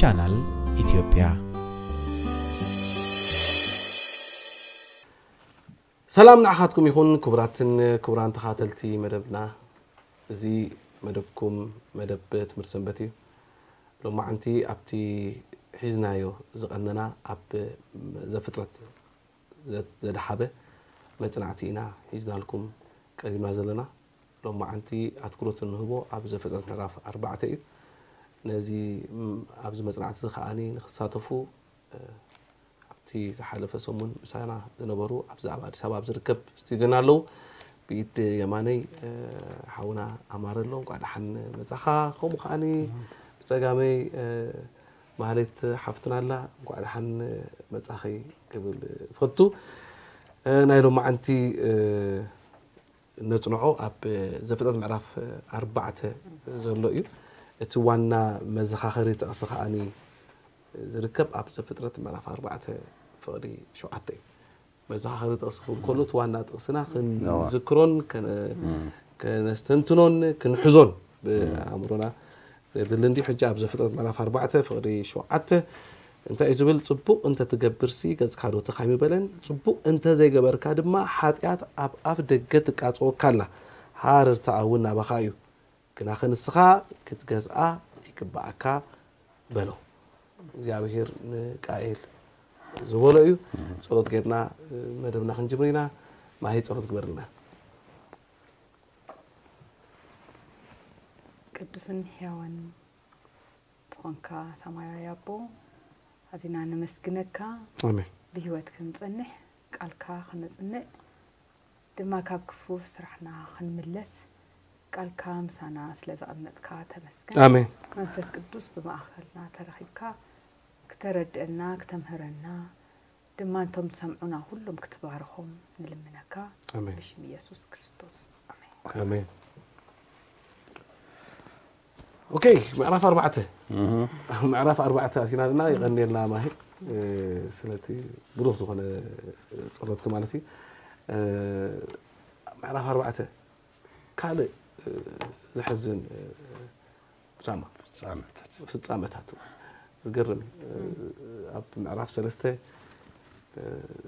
ቻናል ኢትዮጵያ። ሰላም ንዓኻትኩም ይኹን ክቡራትን ክቡራን ተኻተልቲ መደብና። እዚ መደብኩም መደብ ትምህርቲ ሰንበት እዩ። ሎማዓንቲ ኣብቲ ሒዝናዮ ዝቐነና ኣብ ዘፍጥረት ዘ- ዘድሓበ መጽናዕቲ ኢና ሒዝናልኩም ቀሪብና ዘለና። ሎማዓንቲ ኣትኩሮት እንህቦ ኣብ ዘፍጥረት ምዕራፍ ኣርባዕተ እዩ። ነዚ ም- ኣብዚ መጽናዕቲ እዚ ከዓኒ ንክሳተፉ ኣብቲ ዝሓለፈ ሰሙን ምሳና ዝነበሩ ኣብዚ ኣብ ኣዲስ ኣበባ ኣብ ዝርከብ ስቱድዮና ኣለዉ። ብኢድ የማነይ ሓውና ኣማረ ኣሎ። እንኳዕ ደሓን መጻኻ። ከምኡ ከዓኒ ብጸጋመይ ማህሌት ሓፍትና ኣላ። እንኳዕ ደሓን መጻኺ ክብል እፈቱ። ናይ ሎማዓንቲ ነጽንዖ ኣብ ዘፍጥረት ምዕራፍ ኣርባዕተ ዘሎ እዩ። እቲ ዋና መዘኻኸሪ ጥቕሲ ከዓኒ ዝርከብ ኣብ ዘፍጥረት ምዕራፍ ኣርባዕተ ፍቕዲ ሸውዓተ እዩ። መዘኻኸሪ ጥቕሲ ክብል ከሎ እቲ ዋና ጥቕስና ክንዝክሮን ከነስተንትኖን ክንሕዞን ብኣእምሮና ዘድሊ እንዲ። ሕጂ ኣብ ዘፍጥረት ምዕራፍ ኣርባዕተ ፍቕዲ ሸውዓተ እንታይ እዩ ዝብል? ጽቡቕ እንተ ትገብርሲ ገጽካ ዶ ተኻይሚ በለን፣ ጽቡቕ እንተ ዘይገበርካ ድማ ሓጢኣት ኣብ ኣፍ ደገ ትቃጸወካ ኣላ፣ ሃረርታኣ እውን ናባኻ እዩ፣ ግናኸ ንስኻ ክትገዝኣ ይግብኣካ በሎ። እግዚኣብሔር ንቃኤል ዝበሎ እዩ። ጸሎት ጌርና መደብና ክንጅምር ኢና። ማሂ ጸሎት ግበርልና። ቅዱስን ሕያውን ዝኾንካ ሰማያዊ ኣቦ ኣዚና ነመስግነካ። ኣሜን። ብህይወት ክንጸንሕ ቃልካ ከነጽንዕ ድማ ካብ ክፉ ስራሕና ክንምለስ ቃልካ ምሳና ስለ ዘቐመጥካ ተመስገን። ኣሜን። መንፈስ ቅዱስ ብማእኸልና ተረኺብካ ክተረድእና ክተምህረና ድማ እንቶም ዝሰምዑና ኩሎም ክትባርኾም ንልምነካ። ኣሜን። ብሽም ኢየሱስ ክርስቶስ ኣሜን። ኣሜን። ኦኬ፣ ምዕራፍ ኣርባዕተ ምዕራፍ ኣርባዕተ ኣቲና ና። ይቐንየልና ማሂ ስለቲ ብሩኽ ዝኾነ ጸሎትክ ማለት እዩ። ምዕራፍ ኣርባዕተ ካልእ ዘሕዝን ድራማ ፍጻመታት ፍጻመታት ዝገርም እዩ። ኣብ ምዕራፍ ሰለስተ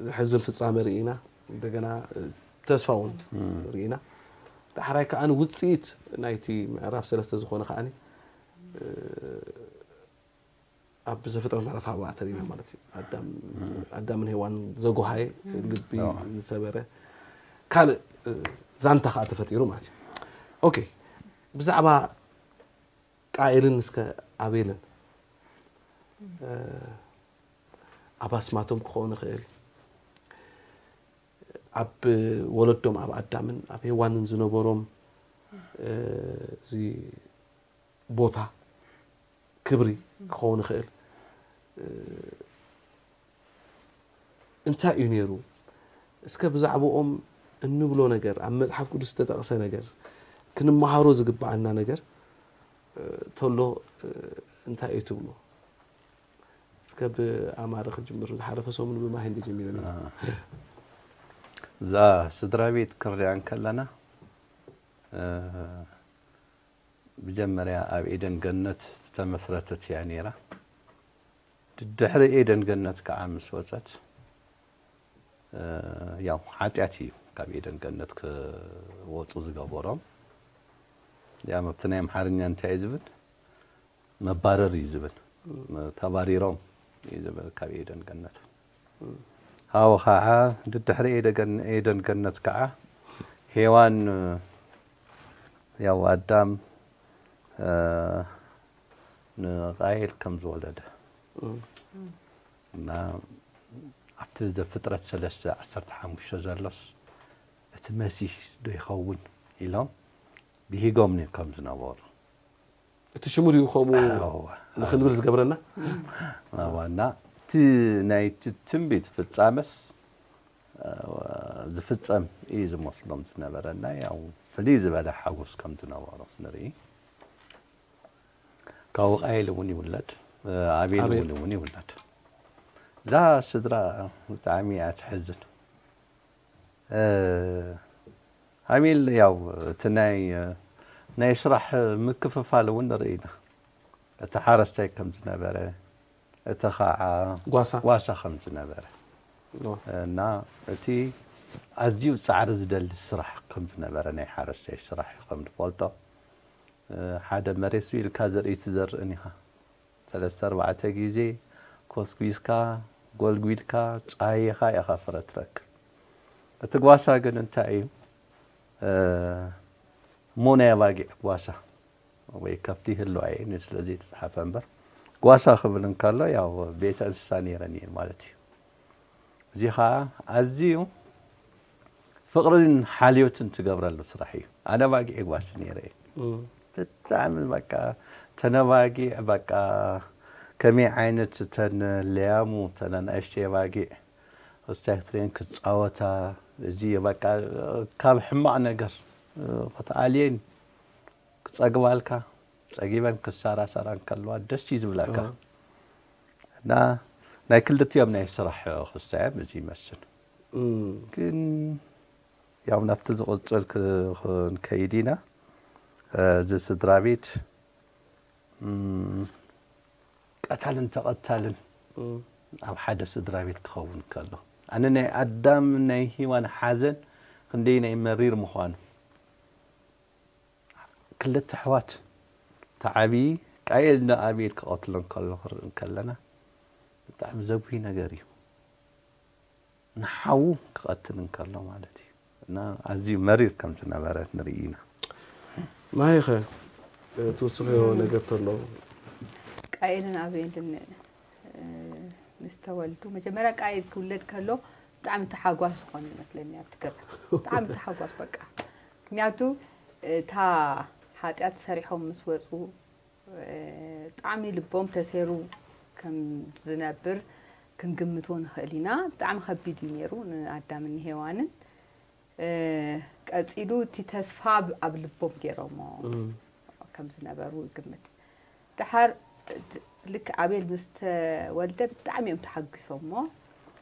ዘሕዝን ፍጻመ ርኢና፣ እንደገና ተስፋ እውን ርኢና። ዳሕራይ ከዓኒ ውፅኢት ናይቲ ምዕራፍ ሰለስተ ዝኾነ ከዓኒ ኣብ ዘፍጥረት ምዕራፍ ኣርባዕተ ርኢና ማለት እዩ። ኣዳም ኣዳምን ሄዋን ዘጎሃየ ልቢ ዝሰበረ ካልእ ዛንታ ከዓ ተፈጢሩ ማለት እዩ። ኦኬ ብዛዕባ ቃኤልን እስከ ኣቤልን ኣብ ኣስማቶም ክኸውን ይኽእል ኣብ ወለዶም ኣብ ኣዳምን ኣብ ሄዋንን ዝነበሮም እዚ ቦታ ክብሪ ክኸውን ይኽእል እንታይ እዩ ነይሩ? እስከ ብዛዕባኦም እንብሎ ነገር ኣብ መፅሓፍ ቅዱስ ዝተጠቕሰ ነገር ክንመሃሮ ዝግበኣና ነገር ተሎ እንታይ እዩ ትብሎ? እስከ ብኣማረ ክጅምር ዝሓለፈ ሰሙን ብማሂ እንዲ ጀሚሩ ነይሩ። እዛ ስድራ ቤት ክንሪኣ እንከለና ብጀመርያ ኣብ ኤደን ገነት ዝተመስረተት እያ ነይራ። ድድሕሪ ኤደን ገነት ከዓ ምስ ወፀት ያው ሓጢኣት እዩ ካብ ኤደን ገነት ክወፁ ዝገበሮም። ያም ኣብቲ ናይ ኣምሓርኛ እንታይ እዩ ዝብል መባረር እዩ ዝብል ተባሪሮም እዩ ዝብል ካብ ኤደን ገነት። ሃው ከዓ ድድሕሪ ኤደን ገነት ከዓ ሄዋን ያው ኣዳም ንቃየል ከም ዝወለደ እና ኣብቲ ዘፍጥረት ሰለስተ ዓሰርተ ሓሙሽተ ዘሎስ እቲ መሲህ ዶ ይኸውን ኢሎም ብሂጎም ከም ዝነበሩ እቲ ሽሙ ድዩ ከምኡ ንክንብል ዝገብረና? ዋና እቲ ናይ ትንቢት ፍጻመስ ዝፍጸም እዩ ዝመስሎም ዝነበረ እና ያው ፍልይ ዝበለ ሓጎስ ከም ዝነበሮም ንርኢ። ካብኡ ቃየል እውን ይውለድ፣ ኣቤል እውን እውን ይውለድ። እዛ ስድራ ብጣዕሚ እያ ትሕዝን። ኣቤል ያው እቲ ናይ ናይ ስራሕ ምክፍፋል እውን ንርኢ ኢና። እቲ ሓረስታይ ከም ዝነበረ፣ እቲ ኸዓ ጓሳ ጓሳ ከም ዝነበረ ዋ። እና እቲ ኣዝዩ ጻዕሪ ዝደሊ ስራሕ ከም ዝነበረ ናይ ሓረስታይ ስራሕ እዩ ከም ዝፈልጦ። እ፣ ሓደ መሬት ኢልካ ዘርኢ ትዘርእን ኢኻ። ሰለስተ ኣርባዕተ ግዜ ኮስኲስካ፣ ጎልጒልካ፣ ጻሂኻ ኢኻ ፍረ ትረክብ። እቲ ጓሳ ግን እንታይ እዩ? እ፣ እሞ ናይ ኣባጊዕ ጓሳ ወይ ከብቲ ይህልዋ እየን ስለ ዘይተጻሓፈ እምበር፣ ጓሳ ክብል እንከሎ ያው ቤተ እንስሳ ነይረን እየን ማለት እዩ። እዚ ኸዓ ኣዝዩ ፍቕርን ሓልዮትን ትገብረሉ ስራሕ እዩ። ኣነ ኣባጊዕ ጓሲ ነይረ እየ። እም። ብጣዕሚ በቃ ተን ኣባጊዕ በቃ ከመይ ዓይነት ተን ለያሙ ተን ኣናእሽተይ ኣባጊዕ ክስታይ ክትሪኤን ክጻወታ እዚ በቃ ካብ ሕማቕ ነገር ክትኣልየን ክጸግባልካ ጸጊበን ክሳራሳራ እንከለዋ ደስ እዩ ዝብለካ። ኣዎ። እና ናይ ክልቲኦም ናይ ስራሕ ክስታዮም እዚ ይመስል። እም። ግን ያው ናብቲ ዝቕጽል ክ- ክንከይድ ኢና። እ፣ እዚ ስድራ ቤት እም፣ ቀታልን ተቐታልን እም። ኣብ ሓደ ስድራ ቤት ክኸውን ከሎ ኣነ ናይ ኣዳም ናይ ሂዋን ሓዘን ክንደይ ናይ መሪር ምዃኑ ክልተ ኣሕዋት ተዓቢ ቃየል ንኣቤል ክቐትሎ እንከሎ ክርኢ እንከለና ብጣዕሚ ዘጉሂ ነገር እዩ። ንሓዉ ክቐትል እንከሎ ማለት እዩ። እና ኣዝዩ መሪር ከም ዝነበረ ንርኢ ኢና። ማሂኸ ትውስኽዮ ነገር ተሎ ቃኤልን ኣቤልን እ፣ ምስ ተወልዱ መጀመርያ ቃኤል ክውለድ ከሎ ብጣዕሚ ተሓጓስ ዝኾነ ይመስለኒ ኣብቲ ገዛ ብጣዕሚ ተሓጓስ በቃ ምክንያቱ እታ ሓጢኣት ሰሪሖም ምስ ወፁ እ፣ ብጣዕሚ ልቦም ተሴሩ ከም ዝነብር ክንግምቶ ንኽእል ኢና ብጣዕሚ ከቢድ እዩ ነይሩ ንኣዳምን ንሄዋንን እ፣ ቀፂሉ እቲ ተስፋ ብ- ኣብ ልቦም ገይሮሞ ከም ዝነበሩ ይግምት ድሓር እ፣ ልክ ኣቤል ምስ ተወልደ ብጣዕሚ እዮም ተሓጒሶሞ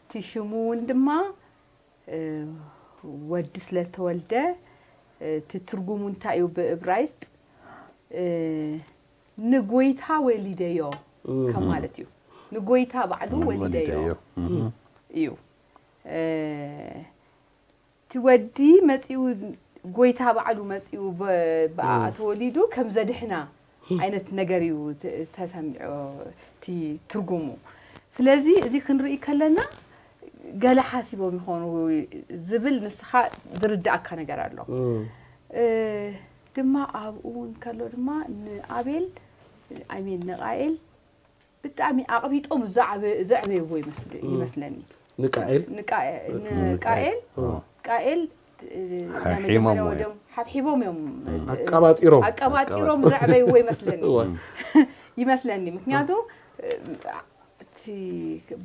እቲ ሽሙ እውን ድማ እ፣ ወዲ ስለ ዝተወልደ እ፣ እቲ ትርጉሙ እንታይ እዩ ብእብራይስጥ እ፣ ንጎይታ ወሊደዮ ከም ማለት እዩ ንጎይታ ባዕሉ ወሊደዮ እዩ እ፣ እቲ ወዲ መፂኡ ጎይታ ባዕሉ መፂኡ ብ- ብኣ ተወሊዱ ከም ዘድሕና ዓይነት ነገር እዩ ት- ተሰሚዖ እቲ ትርጉሙ ስለዚ እዚ ክንርኢ ከለና ገለ ሓሲቦም ይኾኑ ዝብል ንስኻ ዝርዳእካ ነገር ኣሎ እ፣ ድማ ኣብኡ እውን ከሎ ድማ ንኣቤል ኣይሜን ንቃኤል ብጣዕሚ ኣቕቢጦም ዘዕበ- ዘዕበይዎ ይመስል- ይመስለኒ ንቃኤል ንቃኤ- ንቃኤል ቃኤል እ፣ ናይ ሓብሒቦም መጀመርያ ወይ- ወደም ሓብሒቦም እዮም ኣቀባጢሮም ኣቀባጢሮም ዘዕበይዎ ይመስለኒ እወ። ይመስለኒ ምክንያቱ እ፣ እቲ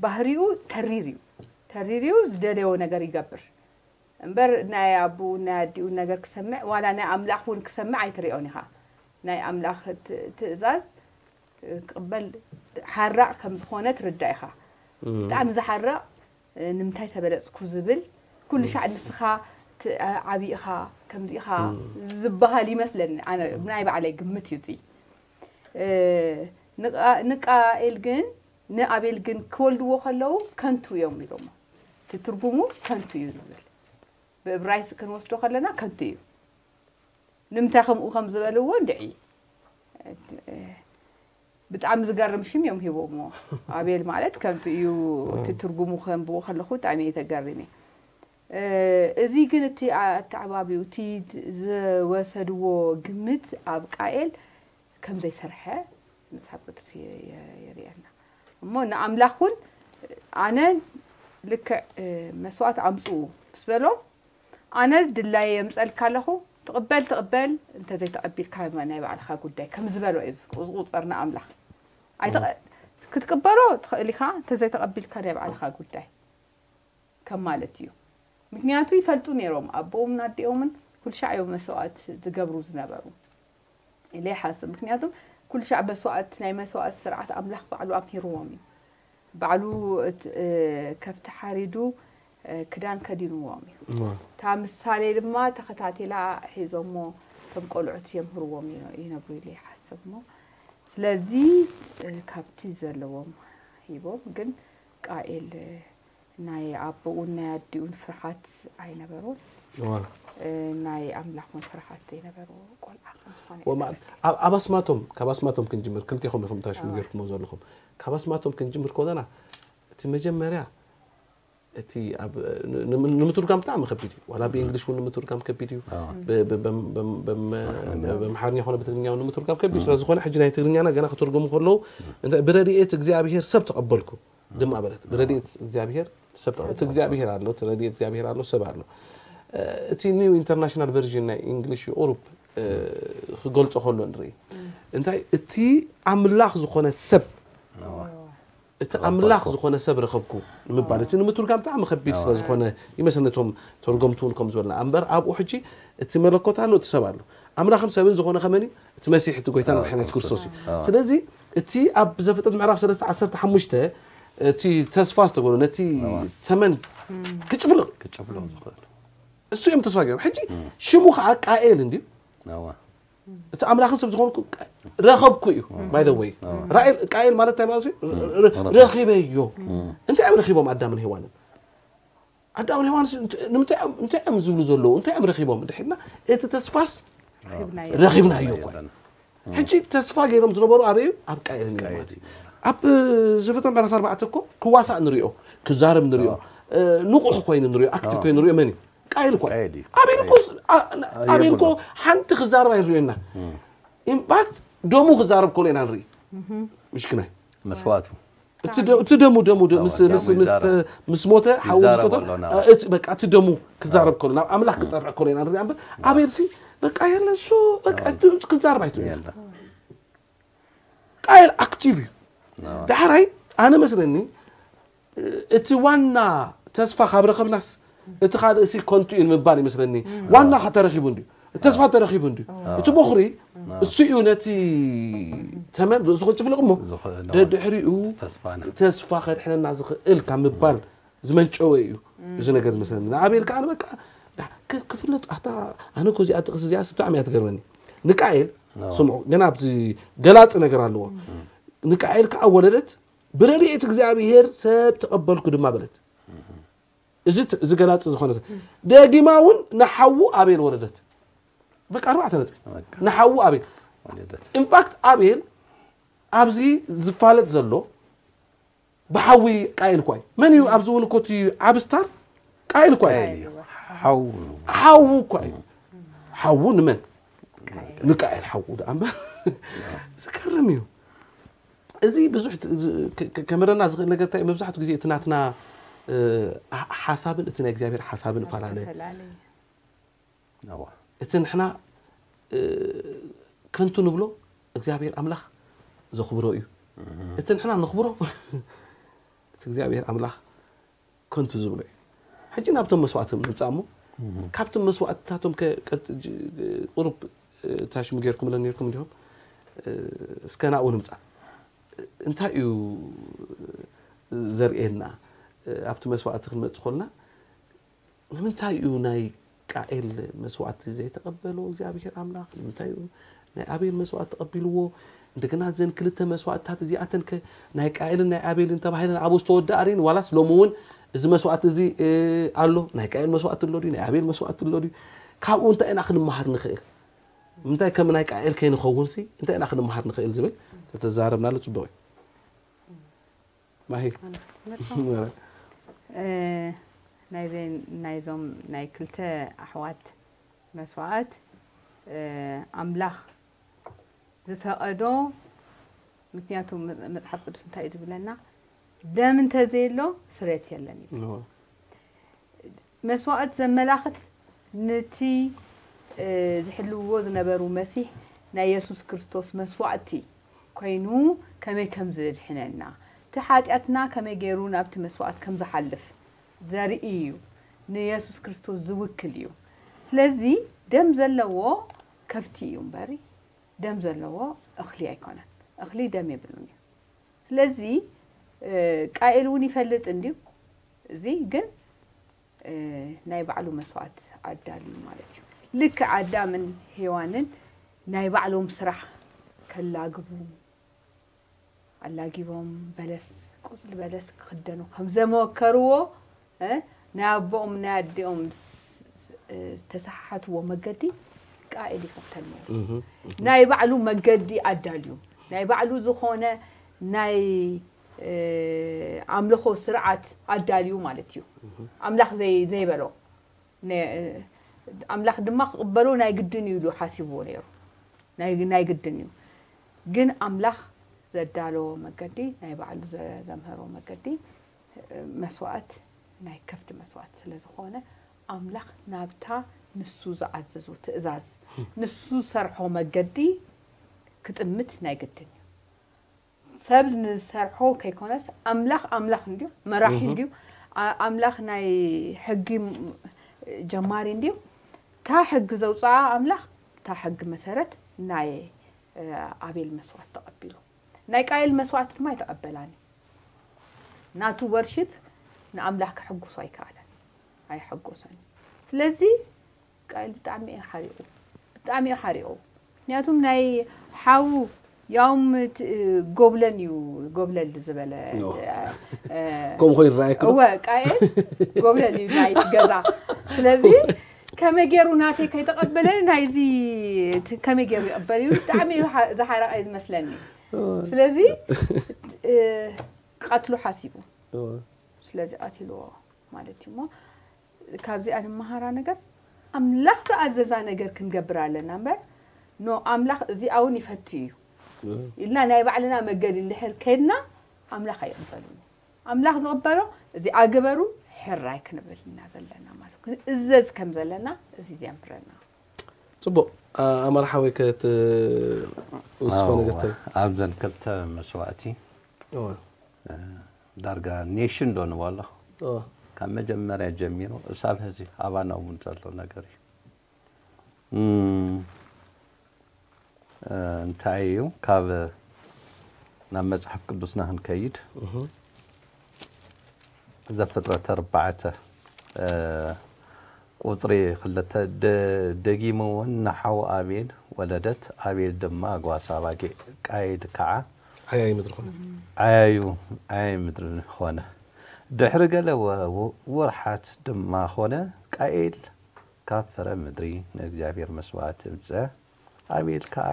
ባህሪኡ ተሪር እዩ ተሪር እዩ ዝደለዮ ነገር ይገብር እምበር ናይ ኣቡኡ ናይ ኣዲኡ ነገር ክሰምዕ ዋላ ናይ ኣምላኽ እውን ክሰምዕ ኣይትሪኦን ኢኻ ናይ ኣምላኽ ት- ትእዛዝ እ፣ ክቕበል ሓራቕ ከም ዝኾነ ትርዳእ ኢኻ ብጣዕሚ ዝሓርቕ እ፣ ንምንታይ ተበለፅኩ ዝብል ኩሉ ሻዕ ንስኻ ት- ዓብዪ ኢኻ ከምዚ ኢኻ ዝበሃል ይመስለኒ ኣነ ናይ ባዕለይ ግምት እዩ እዚ እ፣ ንቃ- ንቃኤል ግን ንኣቤል ግን ክወልድዎ ከለዉ ከንቱ እዮም ኢሎሞ እቲ ትርጉሙ ከንቱ እዩ ዝብል ብእብራይስ ክንወስዶ ከለና ከንቱ እዩ ንምንታይ ከምኡ ከም ዝበልዎ እንድዒ ብጣዕሚ ዝገርም ሽም እዮም ሂቦሞ ኣቤል ማለት ከምቲ እዩ እቲ ትርጉሙ ከንብቦ ከለኹ ብጣዕሚ እየ ተገሪመ እ፣ እዚ ግን እቲ ኣተዓባቢኡ እቲ ዝወሰድዎ ግምት ኣብ ቃኤል ከም ዘይሰርሐ መፅሓፍ ቅዱስ የ- የ- የርእየና እሞ ንኣምላኽ እውን ኣነ ልክዕ እ፣ መስዋእት ኣምፅኡ ምስ በሎም ኣነ ድላየ የምፀልካ ኣለኹ ትቕበል ትቕበል እንተዘይተቐቢልካ ናይ ባዕልኻ ጉዳይ ከም ዝበሎ እዩ ዝቁ- ዝቁፀር ንኣምላኽ ኣይትቐ- ክትቅበሎ ትኽእል ኢኻ እንተዘይተቐቢልካ ናይ ባዕልኻ ጉዳይ ከም ማለት እዩ ምክንያቱ ይፈልጡ ነይሮም ኣቦኦምን ኣዲኦምን ኩልሻዕ እዮም መስዋእት ዝገብሩ ዝነበሩ ኢለ ይሓስብ ምክንያቱም ኩልሻዕ መስዋእት ናይ መስዋእት ስርዓት ኣምላኽ ባዕሉ ኣምሂርዎም እዩ ባዕሉ እት- እ፣ ከፍቲ ሓሪዱ እ፣ ክዳን ከዲንዎም እዩ እታ ምሳሌ ድማ ተኸታቲላ ሒዞሞ እቶም ቆልዑት የምህርዎም ይነ- ይነብሩ ኢለ ይሓስብ እሞ ስለዚ እ፣ ካብቲ ዘለዎም ሂቦም፣ ግን ቃኤል እ፣ ናይ ኣቦኡን ናይ ኣዲኡን ፍርሓት ኣይነበሮን። እዋ። እ፣ ናይ ኣምላኽ እውን ፍርሓት ዘይነበሮ ቆልዓ ከም ዝኾነ ወማ- የጠርፍ። ኣብ ኣብ ኣስማቶም ካብ ኣስማቶም ክንጅምር ክልቴኹም ኢኹም ታሽሙ እዋ። ጌርኩሞ ዘለኹም። ካብ ኣስማቶም ክንጅምር ከለና እቲ መጀመርያ እቲ ኣብ ን- ን- ንምትርጓም ብጣዕሚ ከቢድ እዩ። ዋላ ብእንግሊሽ እውን ንምትርጓም ከቢድ እዩ። ኣዎ። ብ- ብ- በም- በም- በም- ኣሕመድ። በምሓርኛ ኾነ ብትግርኛ እውን ንምትርጓም ከቢድ ስለ ዝኾነ ሕጂ ናይ ትግርኛና ገና ክተርጎሙ ከለዉ እንታይ ብረድኤት እግዚኣብሔር ሰብ ተቐበልኩ ድማ በለት። ብረድኤት እግዚኣብሔር ሰብ ተቐ- እቲ እግዚኣብሔር ኣሎ፣ እቲ ረድኤት እግዚኣብሔር ኣሎ፣ ሰብ ኣሎ። እ፣ እቲ ኒው ኢንተርናሽናል ቨርዥን ናይ እንግሊሽ ቁሩብ እ፣ ክገልጾ ከሎ ንርኢ እንታይ እቲ ኣምላኽ ዝኾነ ሰብ እቲ ኣምላኽ ዝኾነ ሰብ ረኸብኩ ንምባል እቲ ንምትርጋም ብጣዕሚ ከቢድ ስለ ዝኾነ ይመስለኒ እቶም ተርጎምቲ እውን ከም ዝበልና እምበር ኣብኡ ሕጂ እቲ መለኮት ኣሎ እቲ ሰብ ኣሎ ኣምላኽን ሰብን ዝኾነ ከመን እዩ እቲ መሲሕ እቲ ጎይታን መድሓኒት ክርስቶስ እዩ ስለዚ እቲ ኣብ ዘፍጥረት ምዕራፍ ሰለስተ ዓሰርተ ሓሙሽተ እቲ ተስፋ ዝተገሉ ነቲ ተመን ክጭፍልቕ ክጭፍልቕ ዝኽእል እሱ እዮም ተስፋ ገይሮም ሕጂ ሽሙ ከዓ ቃኤል እንድዩ ኣዋ እቲ ኣምላኽን ሰብ ዝኾንኩ ረኸብኩ እዩ by the way ራኤል ቃኤል ማለት እንታይ ማለት እዩ ረ- ረ- ረኺበዮ እንታይ እዮም ረኺቦም ኣዳምን ሄዋንን ኣዳምን ሄዋን እንታይ እዮም ዝብሉ ዘለዉ እንታይ እዮም ረኺቦም ድሕና እቲ ተስፋስ ረኺብናዮ እኮ ሕጂ ተስፋ ገይሮም ዝነበሩ ኣበይ እዩ ኣብ ቃኤል እዮም ማለት እዩ ኣብ ዘፍጥረት ምዕራፍ ኣርባዕተ እኮ ክዋሳእ ንሪኦ ክዛረብ ንሪኦ ንቑሕ ኮይኑ ንሪኦ ኣክቲቭ ኮይኑ ንሪኦ መን እዩ ቃኤል እኮ እዩ። ቃኤል እዩ። ኣቤል እኮ ስ- ኣ- ን- ኣቤል እኮ ሓንቲ ክዛረብ ኣይንሪኦና ኢንፋክት ደሙ ክዛረብ ከሎ ኢና ንርኢ ምሽክናይ መስዋእቱ እቲ ደ- እቲ ደሙ ደሙ ደ- ምስ- ደሙ ምስ- ምስ- ይዛረብ። ምስ ሞተ ሓዊ ምስ ይዛረብ ቀተሎ ኣሎ ናብ- እ- እቲ በቃ እቲ ደሙ ክዛረብ ከሎ ናብ ኣምላኽ ክጠርዕ ከሎ ኢና ንርኢ እምበር ኣቤል ሲ በቃ የለ እሱ በቃ እቲ ክዛረብ ኣይትሪኦ የለ ቃኤል ኣክቲቭ እዩ ዳሕራይ ኣነ መስለኒ እቲ ዋና ተስፋ ካብ ረኸብናስ እቲ ካልእ ሲ ከንቱ እዩ ንምባል ይመስለኒ ዋና ከተረኺቡ እንድዩ እቲ ተስፋ ተረኺቡ እንድዩ እቲ ቦኽሪ እሱ እዩ ነቲ ተመን ርእሱ ክጭፍልቕ እሞ ዝኽእል ደድሕሪኡ ተስፋና ተስፋ ከድሕነና ዝኽእል ካብ ምባል ዝመንጨወ እዩ እዚ ነገር ዝመስለኒ ንኣቤል ከዓ በቃ ዳ- ክ- ክፍለጥ ኣታ ኣነ እኮ እዚኣ ጥቕስ እዚኣ ብጣዕሚ እያ ትገርመኒ ንቃኤል ስምዑ ገና ኣብዚ ገላፂ ነገር ኣለዎ ንቃኤል ከዓ ወለደት ብረድኤት እግዚኣብሔር ሰብ ተቐበልኩ ድማ በለት እዚ ት- እዚ ገላፂ ዝኾነ ደጊማ እውን ንሓዉ ኣቤል ወረደት በቃ ኣርባዕተ ነጥቢ ንሓዉ ኣቤል ወለደት ኢንፋክት ኣቤል ኣብዚ ዝፋለጥ ዘሎ ብሓዊ ቃኤል እኳ እዩ መን እዩ ኣብዚ እውን እኮ እቲ ዓብ ስታር ቃኤል እኳ እዩ ቃኤል እዩ ሓው ሓዉ እኳ እዩ ሓዉ ንመን ንቃኤል ሓዉ ደኣ እምበር ዝገርም እዩ እዚ ብዙሕ ት- ዝ- ከ- ከ- ከምህረና ዝኽእል ነገር እንታይ እዩ? መብዛሕትኡ ግዜ እቲ ናትና እ፣ ሓ- ሓሳብን እቲ ናይ እግዚኣብሔር ሓሳብን ፈላለ ተፈላለየ ኣዋ እቲ ንሕና እ፣ ከንቱ ንብሎ እግዚኣብሔር ኣምላኽ ዘኽብሮ እዩ እቲ ንሕና ነኽብሮ እቲ እግዚኣብሔር ኣምላኽ ከንቱ ዝብሎ እዩ ሕጂ ናብቶም መስዋእቲ ንምፃእ እሞ ካብቶም መስዋእትታቶም ከ- ቀጥ- ጅ- ቁሩብ እ፣ ታሽሙ ጌርኩምለን ኔርኩም እንዲኹም እ፣ እስከ ናብኡ ንምፃእ እንታይ እዩ ዘርእየና ኣብቲ መስዋእቲ ክንመፅእ ከለና ንምንታይ እዩ ናይ ቃኤል መስዋእቲ ዘይተቐበሎ እግዚኣብሔር ኣምላኽ ንምንታይ እዩ ናይ ኣቤል መስዋእቲ ተቐቢልዎ እንደገና እዘን ክልተ መስዋእትታት እዚኣተን ከ ናይ ቃኤልን ናይ ኣቤልን ተባሂለን ኣብኡ ዝተወደኣ ርኢን ዋላስ ሎሚ እውን እዚ መስዋእቲ እዚ ኣሎ ናይ ቃኤል መስዋእቲ ኣሎ ድዩ ናይ ኣቤል መስዋእቲ ኣሎ ድዩ ካብኡ እንታይ ኢና ክንመሃር ንኽእል ምንታይ ከም ናይ ቃኤል ከይንኸውን ሲ እንታይ ኢና ክንመሃር ንኽእል ዝብል ተተዛረብናሉ ፅቡቕ እዩ ማሂ ናይዞም ናይ ክልተ ኣሕዋት መስዋእት ኣምላኽ ዝፈቐዶ ምክንያቱ መፅሓፍ ቅዱስ እንታይ እዩ ዝብለና ደም እንተዘየሎ ስሬት የለን እዩ መስዋእት ዘመላኽት ነቲ ዝሕልውዎ ዝነበሩ መሲሕ ናይ የሱስ ክርስቶስ መስዋእቲ ኮይኑ ከመይ ከም ዝድሕነና እቲ ሓጢኣትና ከመይ ገይሩ ናብቲ መስዋእት ከም ዝሓልፍ ዘርኢ እዩ ንየሱስ ክርስቶስ ዝውክል እዩ ስለዚ ደም ዘለዎ ከፍቲ እዩ እምበሪ ደም ዘለዎ እኽሊ ኣይኮነን እኽሊ ደም የብሉን እዩ ስለዚ ቃኤል እውን ይፈልጥ እንድዩ እዚ ግን ናይ ባዕሉ መስዋእት ኣዳልዩ ማለት እዩ ልክ ኣዳምን ሄዋንን ናይ ባዕሎም ስራሕ ከላግቡ ኣላጊቦም በለስ፣ ቆጽሊ በለስ ክኽደኑ ከም ዘመከርዎ፣ እ፣ ናይ ኣቦኦም ናይ ኣዲኦም ስ-፣ ስ-፣ ዝተሰሓሓትዎ መገዲ ቃኤል ይኽተል ነይሩ። ናይ ባዕሉ መገዲ ኣዳልዩ፣ ናይ ባዕሉ ዝኾነ ናይ፣ እ፣ ኣምልኾ ስርዓት ኣዳልዩ ማለት እዩ። ኣምላኽ ዘይ-፣ ዘይበሎ፣ ነ-፣ ኣምላኽ ድማ ክቕበሎ ናይ ግድን እዩ ኢሉ ሓሲብዎ ነይሩ። ናይ፣ ናይ ግድን እዩ። ግን ኣምላኽ ዘዳለዎ መገዲ፣ ናይ ባዕሉ ዘ-፣ ዘምሀሮ መገዲ፣ መስዋእት ናይ ከፍቲ መስዋእት ስለ ዝኾነ፣ ኣምላኽ ናብታ ንሱ ዝኣዘዞ ትእዛዝ፣ ንሱ ዝሰርሖ መገዲ ክጥምት ናይ ግድን እዩ። ሰብ ንዝሰርሖ ከይኮነስ፣ ኣምላኽ ኣምላኽ እንድዩ፣ መራሒ እንድዩ። ኣ-፣ ኣምላኽ ናይ ሕጊ ም-፣ ጀማሪ እንድዩ። እታ ሕጊ ዘውፅኣ ኣምላኽ፣ እታ ሕጊ መሰረት ናይ፣ እ፣ ኣቤል መስዋእት ተቐቢሉ። ናይ ቃየል መስዋእት ድማ ኣይተቐበላን እዩ። ናቱ ወርሺፕ ንኣምላኽ ከሐጉሶ ኣይከኣለን፣ ኣየሐጎሰን። ስለዚ ቃየል ብጣዕሚ እዩ ሓሪቑ፣ ብጣዕሚ እዩ ሓሪቑ። ምክንያቱም ናይ ሓዉ ያውም እቲ ጎብለል እዩ፣ ጎብለል ዝበለ፣ ኖ። እ፣ ከምኡ ኮይኑ ይረኣየኪ ዶ? እወ፣ ቃየል ጎብለል እዩ ናይቲ ገዛ። ስለዚ ከመይ ገይሩ ናተይ ከይተቐበለ ናይዚ እቲ ከመይ ገይሩ ይቕበል እዩ? ብጣዕሚ እዩ ሓ-፣ ዝሓረቐ እዩ ዝመስለኒ። ስለዚ እ፣ ክቐትሎ ሓሲቡ። እወ። ስለዚ ቀቲልዎ ማለት እዩ። እሞ ካብዚኣ ንመሃራ ነገር ኣምላኽ ዝኣዘዛ ነገር ክንገብር ኣለና እምበር፣ ኖ፣ ኣምላኽ እዚኣ እውን ይፈቱ እዩ እወ። ኢልና ናይ ባዕልና መገዲ እንድሕር ከድና ኣምላኽ ኣይቕበልን እዩ። ኣምላኽ ዝቕበሎ እዚኣ ግበሩ፣ ሕራይ ክንብል ኢና ዘለና ማለት እዩ። ክንእዘዝ ከም ዘለና እዚ ዘምህረና። ጽቡቕ። ኣ-፣ ኣማር ሓወይ፣ ከት-፣ ውስኾ ነገር ኣዎ፣ ተል-፣ ኣብዘን ክልተ መስዋእቲ፣ እወ። እ፣ ዳርጋ ኔሽን ዶ ንበሎ? እወ። ካብ መጀመርያ ጀሚሩ እሳብ ሕዚ ኣባና እውን ዘሎ ነገር እዩ። እም፣ እ፣ እንታይ እዩ? ካብ ናብ መጽሓፍ ቅዱስና ክንከይድ፣ እህ። ዘፍጥረት ኣርባዕተ፣ እ፣ ቁጽሪ ክልተ፣ ደ-፣ ደጊሙ እውን ንሓው ኣቤል ወለደት። ኣቤል ድማ ጓሳ ኣባጊዕ፣ ቃየል ከዓ ዓያዩ ምድሪ ኾነ። ዓያዩ፣ ዓያዩ ምድሪ ኾነ። ድሕሪ ገለ ወ-፣ ወ-፣ ወርሓት ድማ ኾነ፣ ቃየል ካብ ፍረ ምድሪ ንእግዚኣብሔር መስዋእቲ እምጸ። ኣቤል ከኣ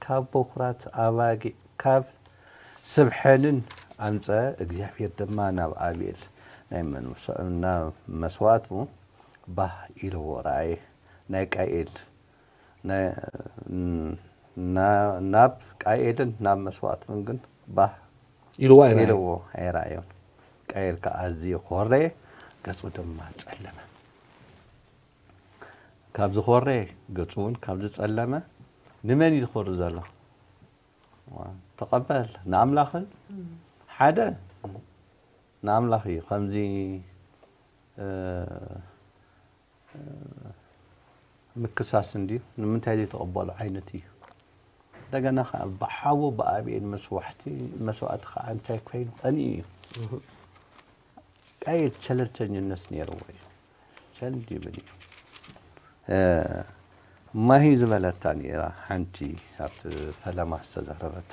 ካብ በኹራት ኣባጊዕ ካብ ስብ ሕንን ኣምጸ። እግዚኣብሔር ድማ ናብ ኣቤል ናይ መንመስ-፣ ናብ መስዋእቱ ባህ ኢልዎ ረኣየ። ናይ ቃኤል፣ ናይ፣ ና-፣ ናብ ቃኤልን ናብ መስዋእቱን ግን ባህ ኢልዎ ኣይረኣዮን። ኢልዎ ኣይረኣዮን። ቃኤል ከኣ ኣዝዩ ኾረየ፣ ገጹ ድማ ጸለመ። ካብ ዝኾረየ፣ ገጹ እውን ካብ ዝጸለመ፣ ንመን እዩ ዝኾሪ ዘሎ? ተቐበል፣ ንኣምላኽን እም። ሓደ ንኣምላኽ እዩ። ከምዚ፣ እ፣ እ፣ ምክሳስ እንድዩ፣ ንምንታይ ዘይተቐበሎ ዓይነት እዩ። እንደገና ኸዓ ብሓዉ ብኣቤል መስዋዕቲ፣ መስዋዕቲ ኸዓ እንታይ ኮይኑ ቀንዩ እዩ። እህ። ቃየል ቸለልተኝነት ነይርዎ እዩ። ቸል ይብል እዩ። እ፣ ማሂ ዝበለታ ነይራ ሓንቲ ኣብቲ ፈለማ ዝተዛረበት።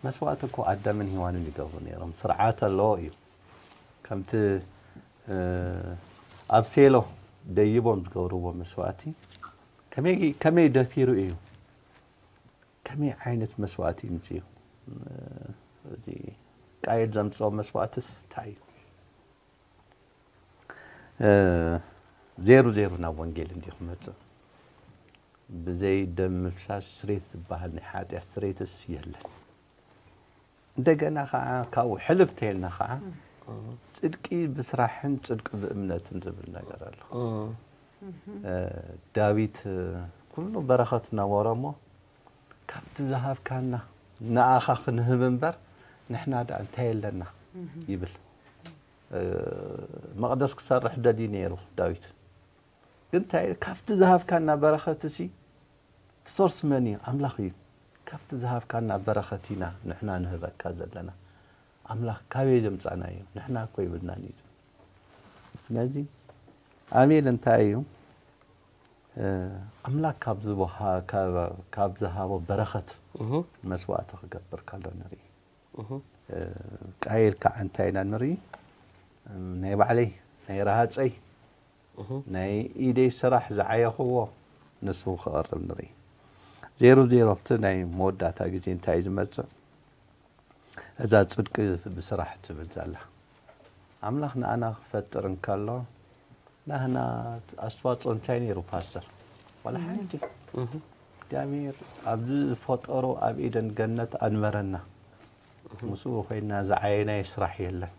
መስዋእቲ እኮ ኣዳምን ሄዋንን ይገብሩ ነይሮም። ስርዓት ኣለዎ እዩ። ከምቲ፣ እ፣ ኣብ ሴሎ ደይቦም ዝገብርዎ መስዋእቲ ከመይ፣ ከመይ ደፊሩ እዩ? ከመይ ዓይነት መስዋእቲ ይምጽእ እዩ? እ፣ እዚ ቃየል ዘምጽኦ መስዋእትስ እንታይ እዩ? እ፣ ዜሩ ዜሩ ናብ ወንጌል እንድዩ ክመጽእ። ብዘይ ደም ምፍሳስ ስሬት ዝበሃል ናይ ሓጢኣት ስሬትስ የለን። እንደገና ኸዓ ካብኡ ሕልፍ ተይልና ኸዓ እም። ጽድቂ ብስራሕን ጽድቂ ብእምነትን ዝብል ነገር ኣሎ። እም። እም። እ፣ ዳዊት፣ እ፣ ኩሉ በረኸት ነበሮ እሞ ካብቲ ዝሃብካና ንኣኻ ክንህብ እምበር ንሕና ደኣ እንታይ ኣለና? እም። ይብል። እ፣ መቕደስ ክሰርሕ ደልዩ ነይሩ ዳዊት። ግን እንታይ፣ ካብቲ ዝሃብካና በረኸትሲ፣ እቲ ሶርስ መን እዩ? ኣምላኽ እዩ። ካብቲ ዝሃብካና በረኸት ኢና ንሕና ንህበካ ዘለና። ኣምላኽ ካበይ ዘምጻናዮ? ንሕና እኮ ይብልናን እዩ። ስለዚ ኣቤል እንታይ እዩ? እ፣ ኣምላኽ ካብ ዝወሃ-፣ ካብ፣ ካብ ዝሃቦ በረኸት እህ። መስዋእቲ ክገብር ከሎ ንርኢ። ቃየል ከዓ እንታይ ኢና ንርኢ? ናይ ባዕለይ ናይ ረሃፀይ ናይ ኢደይ ስራሕ ዝዓየኽዎ ንሱ ክቐርብ ንርኢ። ዜሮ ዜሮ ኣብቲ ናይ መወዳእታ ግዜ እንታይ እዩ ዝመፅእ? እዛ ፅድቂ ብስራሕ ትብል ዘላ ኣምላኽ ንኣና ክፈጥር እንከሎ ናህና ኣስተዋፅኦ እንታይ ነይሩ ፓስተር? ዋላ ሓንቲ። እግዚኣብሔር ኣብዚ ዝፈጠሮ ኣብ ኤደን ገነት ኣንበረና። ምስኡ ኮይና ዝዓየናዮ ስራሕ የለን።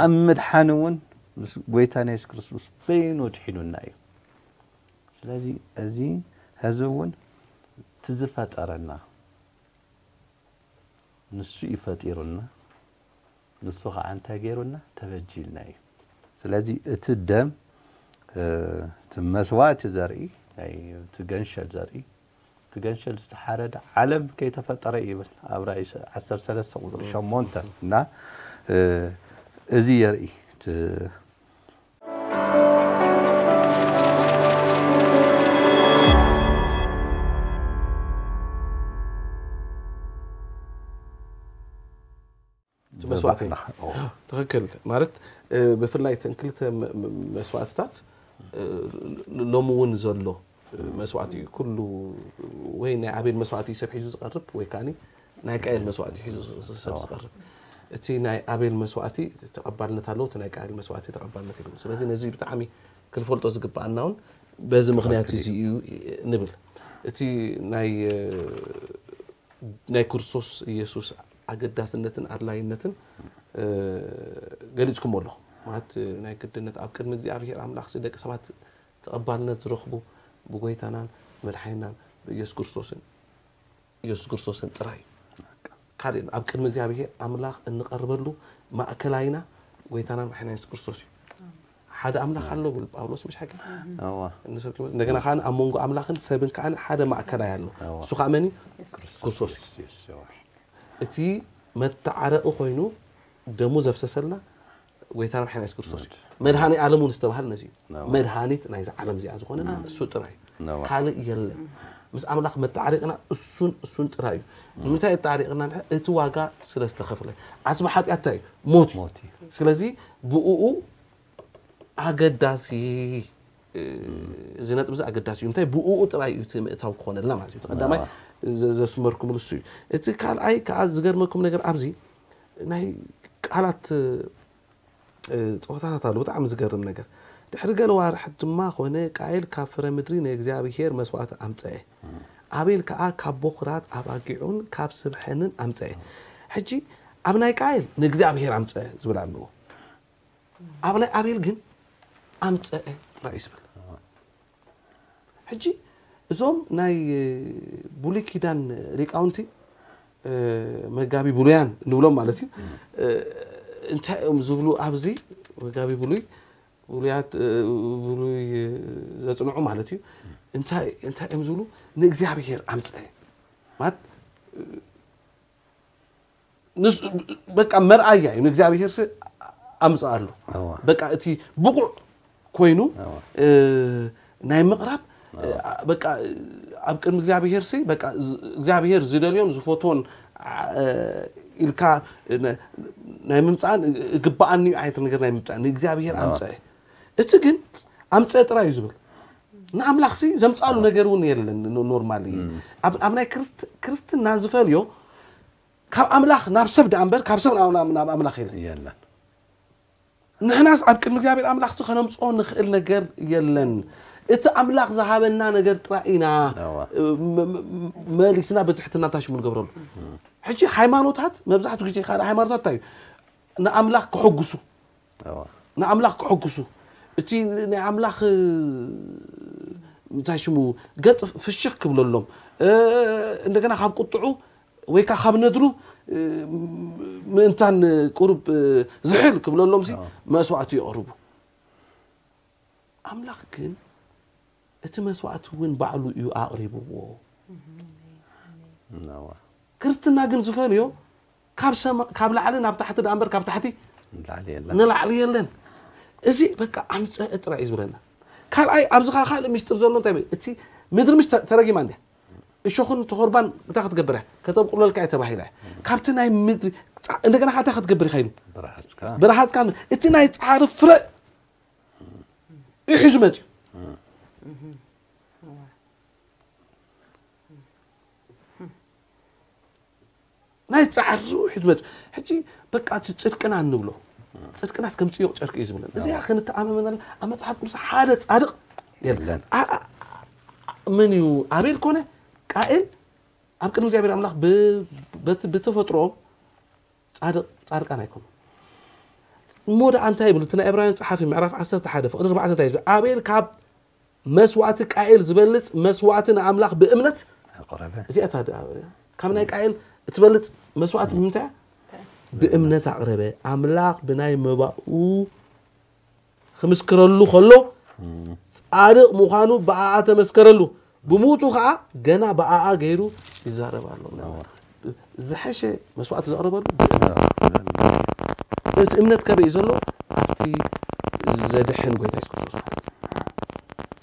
ኣብ ምድሓን እውን ምስ ጎይታና የሱስ ክርስቶስ በይኑ ድሒኑና እዩ። ስለዚ እዚ ሕዚ እውን እቲ ዝፈጠረና ንሱ እዩ ፈጢሩና። ንሱ ከዓ እንታይ ገይሩና? ተበጂልና እዩ። ስለዚ እቲ ደም እቲ መስዋእቲ ዘርኢ እቲ ገንሸል ዘርኢ እቲ ገንሸል ዝተሓረደ ዓለም ከይተፈጠረ ይብል ኣብ ራእይ ዓሰርተ ሰለስተ ቁፅሪ ሸሞንተ እና እዚ የርኢ እቲ መስዋእቲ ትኽክል ማለት ብፍላይ እተን ክልተ መስዋእትታት ሎሚ እውን ዘሎ መስዋእቲ እዩ። ኩሉ ወይ ናይ ኣቤል መስዋእቲ ሰብ ሒዙ ዝቐርብ ወይ ከዓ ናይ ቃየል መስዋእቲ ሒዙ ሰብ ዝቐርብ። እቲ ናይ ኣቤል መስዋእቲ ተቐባልነት ኣለዎ፣ እቲ ናይ ቃየል መስዋእቲ ተቐባልነት የለዎ። ስለዚ ነዚ ብጣዕሚ ክንፈልጦ ዝግበኣና እውን በዚ ምኽንያት እዚ እዩ ንብል። እቲ ናይ ናይ ክርስቶስ ኢየሱስ ኣገዳስነትን ኣድላይነትን ገሊፅኩሞ ኣለኹም። ማለት ናይ ግድነት ኣብ ቅድሚ እግዚኣብሔር ኣምላኽ ደቂ ሰባት ተቐባልነት ዝረኽቡ ብጎይታናን መድሓኒናን ብኢየሱስ ክርስቶስን ኢየሱስ ክርስቶስን ጥራይ እዩ። ካልእ ኣብ ቅድሚ እግዚኣብሔር ኣምላኽ እንቐርበሉ ማእከላይና ጎይታናን መድሓኒና ኢየሱስ ክርስቶስ እዩ። ሓደ ኣምላኽ ኣሎ ብል ጳውሎስ ምሽ ሓቂ እዋ እንደገና ከዓ ኣብ መንጎ ኣምላኽን ሰብን ከዓ ሓደ ማእከላይ ኣሎ። እሱ ከዓ መን እዩ? ክርስቶስ እዩ። እቲ መተዓረቂ ኮይኑ ደሙ ዘፍሰሰልና ጎይታና መድሓኒና የሱስ ክርስቶስ እዩ። መድሃኒ ዓለም እውን ዝተባሃለ ነዚ እዩ። መድሃኒት ናይዚ ዓለም እዚኣ ዝኾነና እሱ ጥራይ እዩ። ካልእ የለን። ምስ ኣምላኽ መተዓሪቅና እሱን እሱን ጥራይ እዩ። ንምንታይ ኣተዓሪቅና? እቲ ዋጋ ስለ ዝተኸፍለ። ዓስቢ ሓጢኣት እንታይ እዩ? ሞት እዩ። ስለዚ ብእኡ ኣገዳሲ እዚ ነጥቢ እዚ ኣገዳሲ እዩ። እንታይ ብእኡ ጥራይ እዩ እቲ ምእታው ክኾነልና ማለት እዩ። እቲ ቀዳማይ ዘስመርኩምሉ እሱ እዩ። እቲ ካልኣይ ከዓ ዝገርመኩም ነገር ኣብዚ ናይ ቃላት ፀወታታት ኣሎ። ብጣዕሚ ዝገርም ነገር ድሕሪ ገለ ዋርሕት ድማ ኾነ ቃየል ካብ ፍረ ምድሪ ንእግዚኣብሄር መስዋእቲ ኣምፀአ። ኣቤል ከዓ ካብ ቦኽራት ኣባጊዑን ካብ ስብ ሕንን ኣምፀአ። ሕጂ ኣብ ናይ ቃየል ንእግዚኣብሄር ኣምፀአ ዝብል ኣለዎ። ኣብ ናይ ኣቤል ግን ኣምፀአ ጥራይ እዩ ዝብል። ሕጂ እዞም ናይ ብሉይ ኪዳን ሊቃውንቲ መጋቢ ብሉያን ንብሎም ማለት እዩ እንታይ እዮም ዝብሉ ኣብዚ መጋቢ ብሉይ ብሉያት ብሉይ ዘፅንዑ ማለት እዩ እንታይ እንታይ እዮም ዝብሉ ንእግዚኣብሔር ኣምፀአ ማለት በቃ መርኣያ እዩ ንእግዚኣብሔር ኣምፅኣሉ በቃ እቲ ብቑዕ ኮይኑ ናይ ምቕራብ በቃ ኣብ ቅድሚ እግዚኣብሔር ሲ በቃ እግዚኣብሔር ዝደልዮን ዝፈትዎን ኢልካ ናይ ምምፃእን እግበኣኒ እዩ ዓይነት ነገር ናይ ምምፃእ ንእግዚኣብሔር ኣምፀአ እቲ ግን ኣምፀአ ጥራይ እዩ ዝብል ንኣምላኽ ሲ ዘምፃሉ ነገር እውን የለን ኖርማል ኣብ ናይ ክርስትና ዝፈልዮ ካብ ኣምላኽ ናብ ሰብ ደኣ እምበር ካብ ሰብ ናብ ኣምላኽ የለን የለን ንሕናስ ኣብ ቅድሚ እግዚኣብሔር ኣምላኽ ሲ ከነምፅኦ ንኽእል ነገር የለን እቲ ኣምላኽ ዝሃበና ነገር ጥራይ ኢና መሊስና ብትሕትና እንታይ ሽሙ ንገብረሉ ሕጂ ሃይማኖታት መብዛሕትኡ ግዜ ካልእ ሃይማኖታት እንታይ እዩ ንኣምላኽ ክሕጉሱ ንኣምላኽ ክሕጉሱ እቲ ናይ ኣምላኽ እንታይ ሽሙ ገጽ ፍሽኽ ክብለሎም እንደገና ካብ ቁጥዑ ወይ ከዓ ካብ ነድሩ ምእንታን ቁሩብ ዝሕል ክብለሎም ሲ መስዋዕቲ የቕርቡ ኣምላኽ ግን እቲ መስዋዕቲ እውን ባዕሉ እዩ ኣቕሪብዎ ክርስትና ግን ዝፈልዮ ካብ ላዕሊ ናብ ታሕቲ ደኣ እምበር ካብ ታሕቲ ንላዕሊ የለን እዚ በቃ ኣምፀአ ጥራይ እዩ ዝብለና ካልኣይ ኣብዚ ካልእ ሚስጥር ዘሎ እንታይ እቲ ምድሪ ምስ ተረጊማ እንድያ እሾኽን ተኾርባን እንታይ ክትገብር እያ? ከተብቁለልካ እየ ተባሂላ እያ። ካብቲ ናይ ምድሪ ጻ-፣ እንደገና ከኣ እንታይ ክትገብር ኢኻ ኢሉ? ብርሃጽካ ብረሃጽካ እቲ ናይ ጻዕሪ ፍረ እዩ ሒዙ መጽዩ። ናይ ጻዕሪ ሒዙ መጽዩ። ሕጂ በቃ እቲ ጽድቅና እንብሎ ጽድቅናስ ከም ጽዮቕ ጨርቂ እዩ ዝብለን። እዚኣ ክንተኣማመናል ኣብ መጽሓፍ ቅዱስ ሓደ ጻድቕ የለን። የለን። ኣ-፣ ኣ-፣ መን እዩ? ኣቤል ኮነ ቃኤል ኣብ ቅድሚ እግዚኣብሔር ኣምላኽ ብ-፣ በት-፣ ብተፈጥሮኦም ጻድቕ፣ ጻድቃን ኣይኮኑ። እሞ ደኣ እንታይ ይብል? እቲ ናይ ዕብራውያን ጸሓፊ ምዕራፍ ዓሰርተ ሓደ ፍቕዲ ኣርባዕተ እንታይ እዩ ዝብል? ኣቤል ካብ መስዋእቲ ቃኤል ዝበልጽ መስዋእቲ ንኣምላኽ ብእምነት ኣቕረበ። እዚኣ እታ ደኣ ካብ ናይ ቃኤል እትበልጽ መስዋእቲ ብምንታይ እያ? ብእምነት ኣቕረበ። ኣምላኽ ብናይ መባኡ ክምስክረሉ ከሎ ጻድቕ ምዃኑ ብኣኣ ተመስከረሉ። ብሞቱ ኸዓ ገና ብኣኣ ገይሩ ይዛረብ ኣሎ። ዝሐሸ መስዋእቲ ዘቕረበሉ ብእምነት። እቲ እምነት ከበይ እዩ ዘሎ? ኣብቲ ዘድሕን ጎይታ የሱስ ክርስቶስ ማለት እዩ።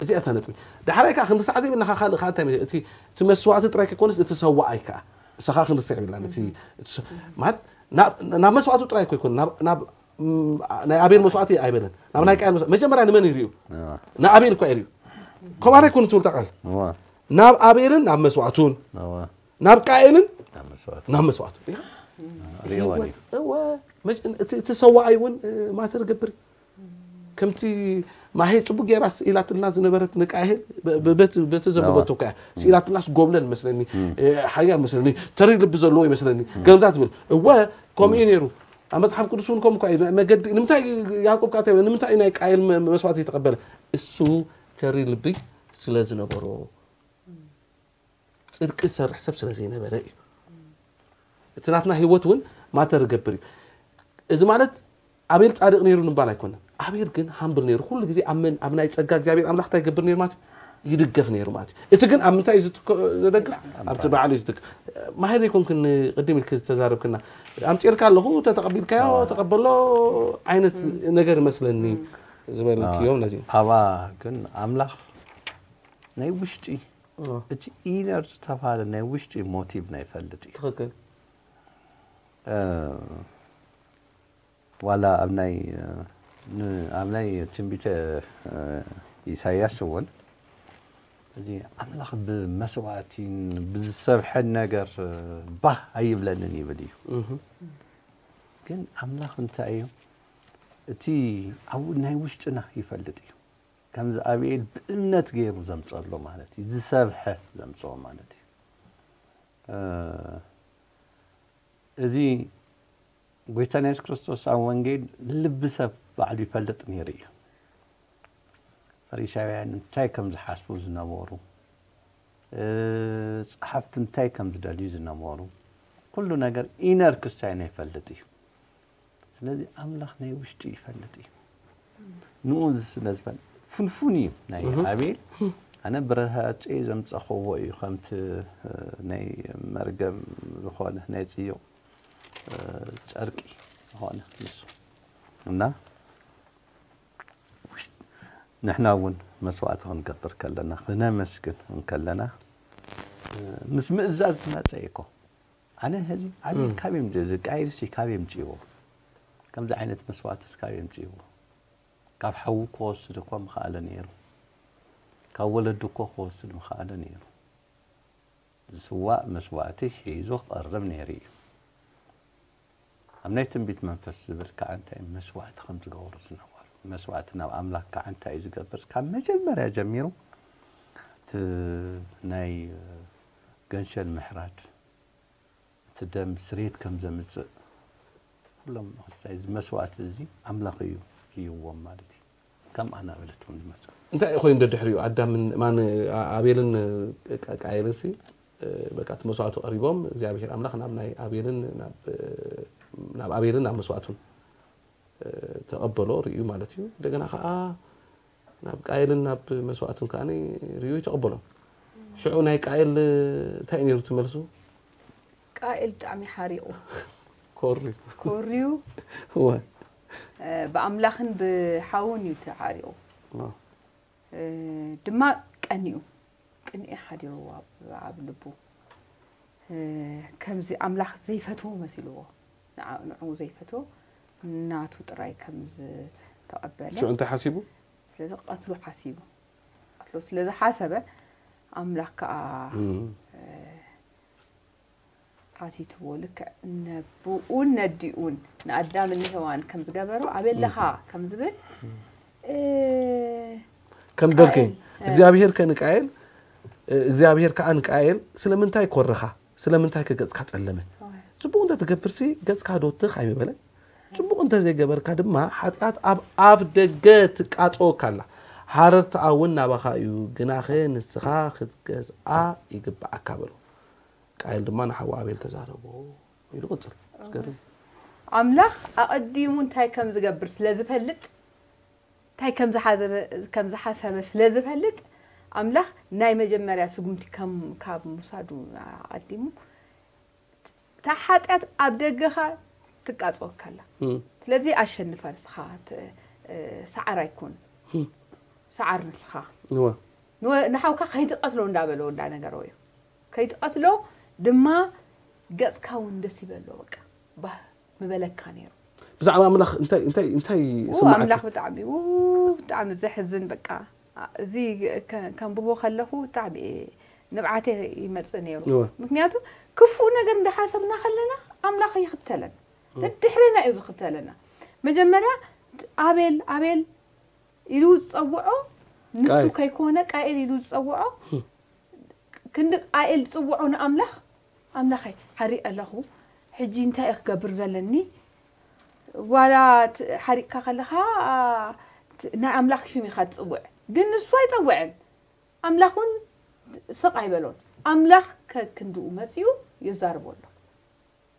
እዚኣ እታ ነጥቢ። ዳሕራይ ከዓ ክንርሳዕ ዘይብልና ከዓ ካልእ ከዓ እንታይ መ-፣ እቲ፣ እቲ መስዋእቲ ጥራይ ከይኮነስ እቲ ሰዋኣይ ከዓ እሳ ከዓ ክንርስዕ የብልናን። እቲ፣ እቲ ሰ-፣ ማለት ናብ፣ ናብ መስዋእቱ ጥራይ እኮ ይኮን፣ ናብ፣ ናብ፣ ም፣ ናይ ኣቤል መስዋእቲ ኣይበለን። ናብ ናይ ቃየል መስዋእቲ። መጀመርያ ንመን ይርእዩ? እዋ። ንኣቤል እኮ ይርእዩ። ከምኣና ይኮን ትብል እታ ቃል። እዋ። ናብ ኣቤልን ናብ መስዋእቱን፣ እዋ። ናብ ቃየልን ናብ መስዋእቱ። ናብ መስዋእቱ። ሪእኻ? ሪእዋ ድዩ? እወ፣ መጀ-፣ እቲ፣ እቲ ሰዋኣይ እውን፣ እ፣ ማተር ገብር። ከምቲ ማሄ ጽቡቅ ጌራ ስኢላትልና ዝነበረት ንቃየል በ-፣ በ-፣ በቲ፣ በቲ ዘንበበቶ እኮ እያ። ስኢላትልና ስጎብለል መስለኒ፣ እ፣ ሓያል መስለኒ፣ ተሪር ልቢ ዘለዎ ይመስለኒ። ገምዛ ትብል። እወ፣ ከምኡ እዩ ነይሩ። ኣብ መጽሓፍ ቅዱስ እውን ከምኡ እኮ እዩ። መገዲ፣ ንምንታይ ያዕቆብ ከኣ እንታይ ይብል? ንምንታይ እዩ ናይ ቃየል መ-፣ መስዋእቲ ዝተቐበለ? እሱ ተሪር ልቢ ስለ ዝነበሮ። ጽድቂ ዝሰርሕ ሰብ ስለ ዘይነበረ እዩ። እቲ ናትና ህይወት እውን ማተር ይገብር እዩ። እዚ ማለት ኣቤል ጻድቕ ነይሩ ንምባል ኣይኮነን። ኣቤል ግን ሃምብል ነይሩ። ኩሉ ግዜ ኣብ መን? ኣብ ናይ ጸጋ እግዚኣብሔር ኣምላኽ እንታይ ይገብር ነይሩ ማለት እዩ? ይድገፍ ነይሩ ማለት እዩ። እቲ ግን ኣብ ምንታይ እዩ ዝትከ-፣ ዝደግፍ? ኣብቲ ባዕሉ እዩ ዝድገፍ። ማሄር ይኮንክን ቅድም ኢልክ ዝተዛረብክና። ኣምጺእልካ ኣለኹ፣ ተተቐቢልካዮ፣ ተቐበሎ ዓይነት ነገር ይመስለኒ ዝበልክዮ ነዚ። ኣባ ግን ኣምላኽ ናይ ውሽጢ እቲ ኢነር ዝተባህለ ናይ ውሽጢ ሞቲቭ ናይ ፈልጥ እዩ። ትኽክል። እ፣ ዋላ ኣብ ናይ፣ እ፣ ን-፣ ኣብ ናይ ትንቢተ፣ እ፣ ኢሳያስ እውን እዚ ኣምላኽ ብመስዋእቲን ብዝሰብሐን ነገር፣ እ፣ ባህ ኣይብለንን ይብል እዩ። እህ። ግን ኣምላኽ እንታይ እዩ? እቲ ኣብ ናይ ውሽጥና ይፈልጥ እዩ። ከምዚ ኣቤል ብእምነት ገይሩ ዘምፀሎ ማለት እዩ። ዝሰብሐ ዘምፅኦ ማለት እዩ። እ፣ እዚ ጎይታና የሱስ ክርስቶስ ኣብ ወንጌል ልቢ ሰብ ባዕሉ ይፈልጥ ነይሩ እዩ። ፈሪሳውያን እንታይ ከም ዝሓስቡ ዝነበሩ፣ እ፣ ጸሓፍቲ እንታይ ከም ዝደልዩ ዝነበሩ፣ ኩሉ ነገር ኢነር ክስታይና ይፈልጥ እዩ። ስለዚ ኣምላኽ ናይ ውሽጢ ይፈልጥ እዩ። ንኡ ስለ ዝፈልጥ ፍንፉን እዩ ናይ ኣቤል። ኣነ ብረሃጸይ ዘምጸኽዎ እዩ ከምቲ፣ እ፣ ናይ መርገም ዝኾነ ናይ ጽዩቕ፣ እ፣ ጨርቂ ዝኾነ ንሱ። እና ውሽ-፣ ንሕና እውን መስዋእቲ ክንገብር ከለና፣ ክነመስግን እንከለና፣ እ፣ ምስ ምእዛዝ ዝመጸ እዩ እኮ። ኣነ ሕዚ ኣቤል ካብ የምጽ-፣ ቃየልሲ ካብ የምጽእዎ? ከምዚ ዓይነት መስዋእትስ ካብ የምጽእዎ? ካብ ሓዉ ክወስድ እኮ ምኸኣለ ነይሩ። ካብ ወለዱ እኮ ክወስድ ምኸኣለ ነይሩ። ዝስዋእ መስዋእቲ ሒዙ ክቐርብ ነይሩ እዩ። ኣብ ናይ ትንቢት መንፈስ ዝብል ከዓ እንታይ መስዋእቲ ከም ዝገብሩ ዝነበሩ። መስዋእቲ ናብ ኣምላኽ ከዓ እንታይ እዩ ዝገብር? ካብ መጀመርያ ጀሚሩ እቲ ናይ ገንሸል ምሕራድ፣ እቲ ደም ስርየት ከም ዘምጽእ ኩሎም እዚ መስዋእቲ እዚ ኣምላኽ እዩ ሂብዎም ማለት እዩ። ከም ኣናብለት እውን ዝመጽእ። እንታይ ኮይኑ ደድሕሪኡ ኣዳምን፣ ማን፣ ኣ-፣ ኣቤልን፣ እ፣ ቃ-፣ ቃየልን ሲ፣ እ፣ በቃ እቲ መስዋእቱ ቀሪቦም እግዚኣብሔር ኣምላኽ ናብ ናይ ኣቤልን ናብ፣ እ፣ ናብ ኣቤልን ናብ መስዋእቱን፣ እ፣ ተቐበሎ ርእዩ ማለት እዩ። እንደገና ከዓ ናብ ቃየልን ናብ መስዋእቱን ከዓ ርእዩ ይተቐበሎም። ሽዑ ናይ ቃየል፣ እ፣ እንታይ እዩ ነይሩ ትመልሱ? ቃኤል ብጣዕሚ ሓሪቑ ኮሪ። ኮርዩ እወ። እ፣ ብኣምላኽን ብሓውን እዩ ተሓሪቑ። እወ። እ፣ ድማ ቀኒኡ። ቅንኤ ሓዲርዎ ኣብ ልቡ። ከምዚ ኣምላኽ ዘይፈትዎ መሲልዎ፣ ንዓ- ንዕኡ ዘይፈትዎ ናቱ ጥራይ ከም ዝተቐበለ። ሽዑ እንታይ ሓሲቡ? ስለዚ ክቐትሎ ሓሲቡ። ክቐትሎ ስለ ዝሓሰበ ኣምላኽ ከኣ ሓቲትዎ። ልክዕ ነብኡን ነዲኡን ንኣዳምን ንሄዋን ከም ዝገበሮ ኣበይ ኣለኻ ከም ዝብል ከም በልከ እግዚኣብሔር ከ ንቃየል እግዚኣብሔር ከኣ ንቃየል ስለምንታይ ኮረኻ ስለምንታይ ከ ገጽካ ጸለመ ጽቡቕ እንተ ትገብርሲ ገጽካ ዶ ትኽ ኣይምበለን ጽቡቕ እንተ ዘይገበርካ ድማ ሓጢኣት ኣብ ኣፍ ደገ ትቃጸወካ ኣላ ሓረርትኣ እውን ናባኻ እዩ ግናኸ ንስኻ ክትገዝኣ ይግብኣካ በሎ ቃየል ድማ ንሓዉ ኣቤል ተዛረቦ ኢሉ ቅጽል ትገርም ኣምላኽ ኣቐዲሙ እንታይ ከም ዝገብር ስለ ዝፈልጥ እንታይ ከም ዝሓሰበ ስለ ዝፈልጥ ኣምላኽ ናይ መጀመርያ ስጉምቲ ከም ካብ ምውሳዱ ኣቐዲሙ እታ ሓጢኣት ኣብ ደገኻ ትቃፀወካ ኣላ ስለዚ ኣሸንፋ ንስኻ ሰዓር ኣይኮን ሰዓር ንስኻ ንሓውካ ከይትቐትሎ እንዳበሎ እንዳነገሮ እዩ ከይትቐትሎ ድማ ገፅካ እውን ደስ ይበሎ በቃ ባህ ምበለካ ነይሩ። ብዛዕባ ኣምላኽ እንታይ እንታይ እንታይ ይስምዓካ? ኣምላኽ ብጣዕሚ ው ብጣዕሚ ዘሕዝን በቃ እዚ ከንብቦ ከለኹ ብጣዕሚ ንብዓተ ይመጽእ ነይሩ። ምክንያቱ ክፉእ ነገር እንዳሓሰብና ከለና ኣምላኽ ይኽተለን ድሕሪና እዩ ዝኽተለና። መጀመርያ ኣቤል ኣቤል ኢሉ ዝጸውዖ ንሱ ከይኮነ ቃኤል ኢሉ ዝጸውዖ ክንዲ ቃኤል ዝጽውዖ ንኣምላኽ ኣምላኸይ ሓሪቕ ኣለኹ ሕጂ እንታይ እየ ክገብር ዘለኒ ዋላ ሓሪቕካ ከለኻ ናይ ኣምላኽ ሽም ኢኻ ትጽውዕ ግን ንሱ ኣይጸውዕን ኣምላኽ እውን ስቕ ኣይበሎን ኣምላኽ ከክንድኡ መጺኡ ይዛርቦ ኣሎ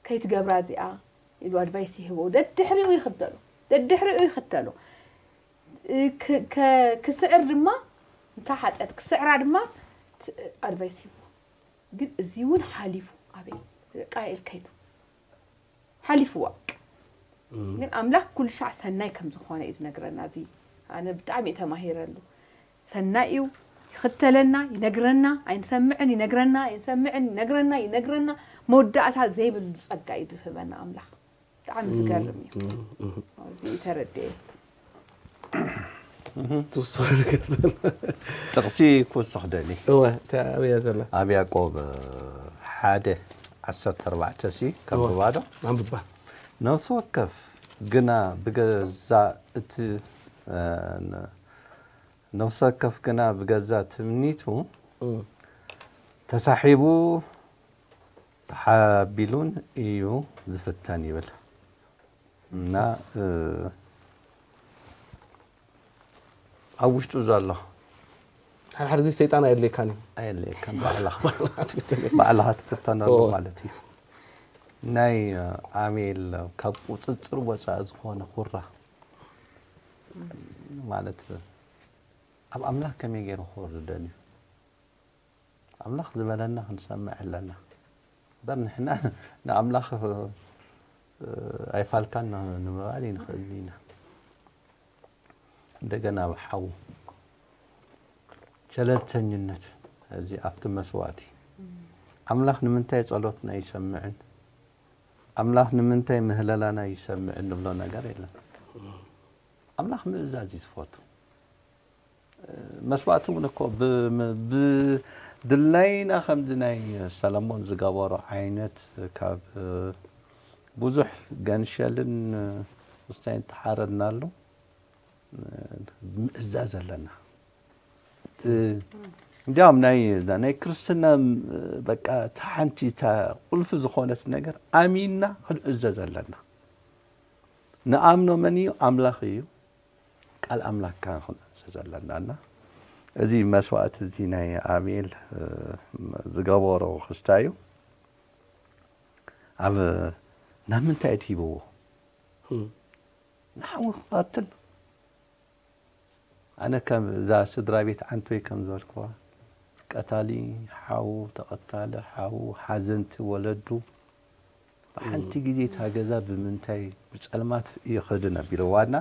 ከይትገብራ እዚኣ ኢሉ ኣድቫይስ ይህቦ ደድሕሪኡ ይኽተሎ ደድሕሪኡ ይኽተሎ ክስዕር ድማ እንታ ሓጢኣት ክስዕራ ድማ ኣድቫይስ ይህቦ ግን እዚ እውን ሓሊፉ ኣቤል ቃኤል ከይዱ ሓሊፍዋ ግን ኣምላኽ ኩሉ ሻዕ ሰናይ ከም ዝኾነ እዩ ዝነግረና እዚ ኣነ ብጣዕሚ እዩ ተማሂረሉ ሰናይ እዩ ይኽተለና ይነግረና ኣይንሰምዕን ይነግረና ኣይንሰምዕን ይነግረና ይነግረና መወዳእታ ዘይብሉ ጸጋ እዩ ዝህበና ኣምላኽ ብጣዕሚ ዝገርም እዩ እዚ ተረድኤ ትውስኾ ነገር ዘሎ ጥቕሲ ክውስኽ ደሊ እወ እንታይ ኣብያ ዘላ ኣብ ያዕቆብ ሓደ ዓሰርተ ኣርባዕተ ሲ ከንብባ ዶ ኣንብባ ነፍሲ ወከፍ ግና ብገዛ እቲ ነፍሲ ወከፍ ግና ብገዛ ትምኒቱ ተሳሒቡ ተሓቢሉን እዩ ዝፍተን ይብል እና ኣብ ውሽጡ ዘሎ ሓደ ሓደ ግዜ ሰይጣን ኣየድልየካን እዩ ኣየድልየካን ባዕልኻ ባዕልኻ ትፍተነሉ ማለት እዩ ናይ ኣሜል ካብ ቁፅፅር ወፃኢ ዝኾነ ኩራ ማለት ኣብ ኣምላኽ ከመይ ገይሩ ክወርደን እዩ ኣምላኽ ዝበለና ክንሰምዕ ኣለና እምበር ንሕና ንኣምላኽ ኣይፋልካን ንምባል ይንኽእል ኢና እንደገና ብሓዉ ሸለልተኝነት እዚ ኣብቲ መስዋእቲ ኣምላኽ ንምንታይ ጸሎትና ይሰምዕን ኣምላኽ ንምንታይ ምህለላና ይሰምዕን ንብሎ ነገር የለን ኣምላኽ ምእዛዝ እዩ ዝፈቱ መስዋእቲ እውን እኮ ብድላይና ከምዚ ናይ ሰለሞን ዝገበሮ ዓይነት ካብ ብዙሕ ገንሸልን ምስታይን ተሓረድናሉ ምእዛዝ ኣለና እንዲያውም ናይ ናይ ክርስትና በቃ እቲ ሓንቲ እታ ቁልፊ ዝኾነት ነገር ኣሚንና ክንእዘዝ ኣለና ንኣምኖ መን እዩ ኣምላኽ እዩ ቃል ኣምላክ ክንእዘዝ ኣለና እና እዚ መስዋእቲ እዚ ናይ ኣቤል ዝገበሮ ክስታ እዩ ኣብ ናብ ምንታይ ድሂብዎ ንሓዊ ክቐትል ኣነ ከም እዛ ስድራ ቤት ዓንቶይ ከም ዝበልክዋ ቀታሊ ሓዉ ተቐታሊ ሓዉ ሓዘንቲ ወለዱ ብሓንቲ ግዜ እታ ገዛ ብምንታይ ብጸልማት ይኸድን ኣቢልዋ እና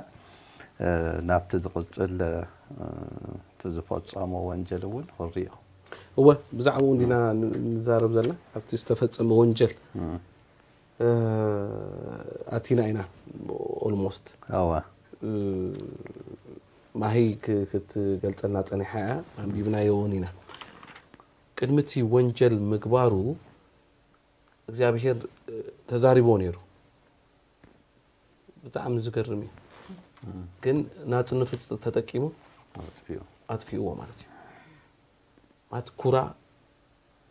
ናብቲ ዝቕጽል እቲ ዝፈጸሞ ወንጀል እውን ክንሪኦ እወ፣ ብዛዕባኡ እንዲና ን- ንዛረብ ዘለና ኣብቲ ዝተፈጸመ ወንጀል እ፣ ኣቲና ኢና። ኦልሞስት ኣዋ ማሂ ክ- ክትገልጸልና ጸኒሓ እያ። ኣንቢብናዮ እውን ኢና። ቅድሚ እቲ ወንጀል ምግባሩ እግዚኣብሔር እ፣ ተዛሪቦ ነይሩ። ብጣዕሚ ዝገርም እዩ። ግን ናጽነቱ ተጠቂሙ ኣጥፊእዎ ማለት እዩ። ማለት ኩራ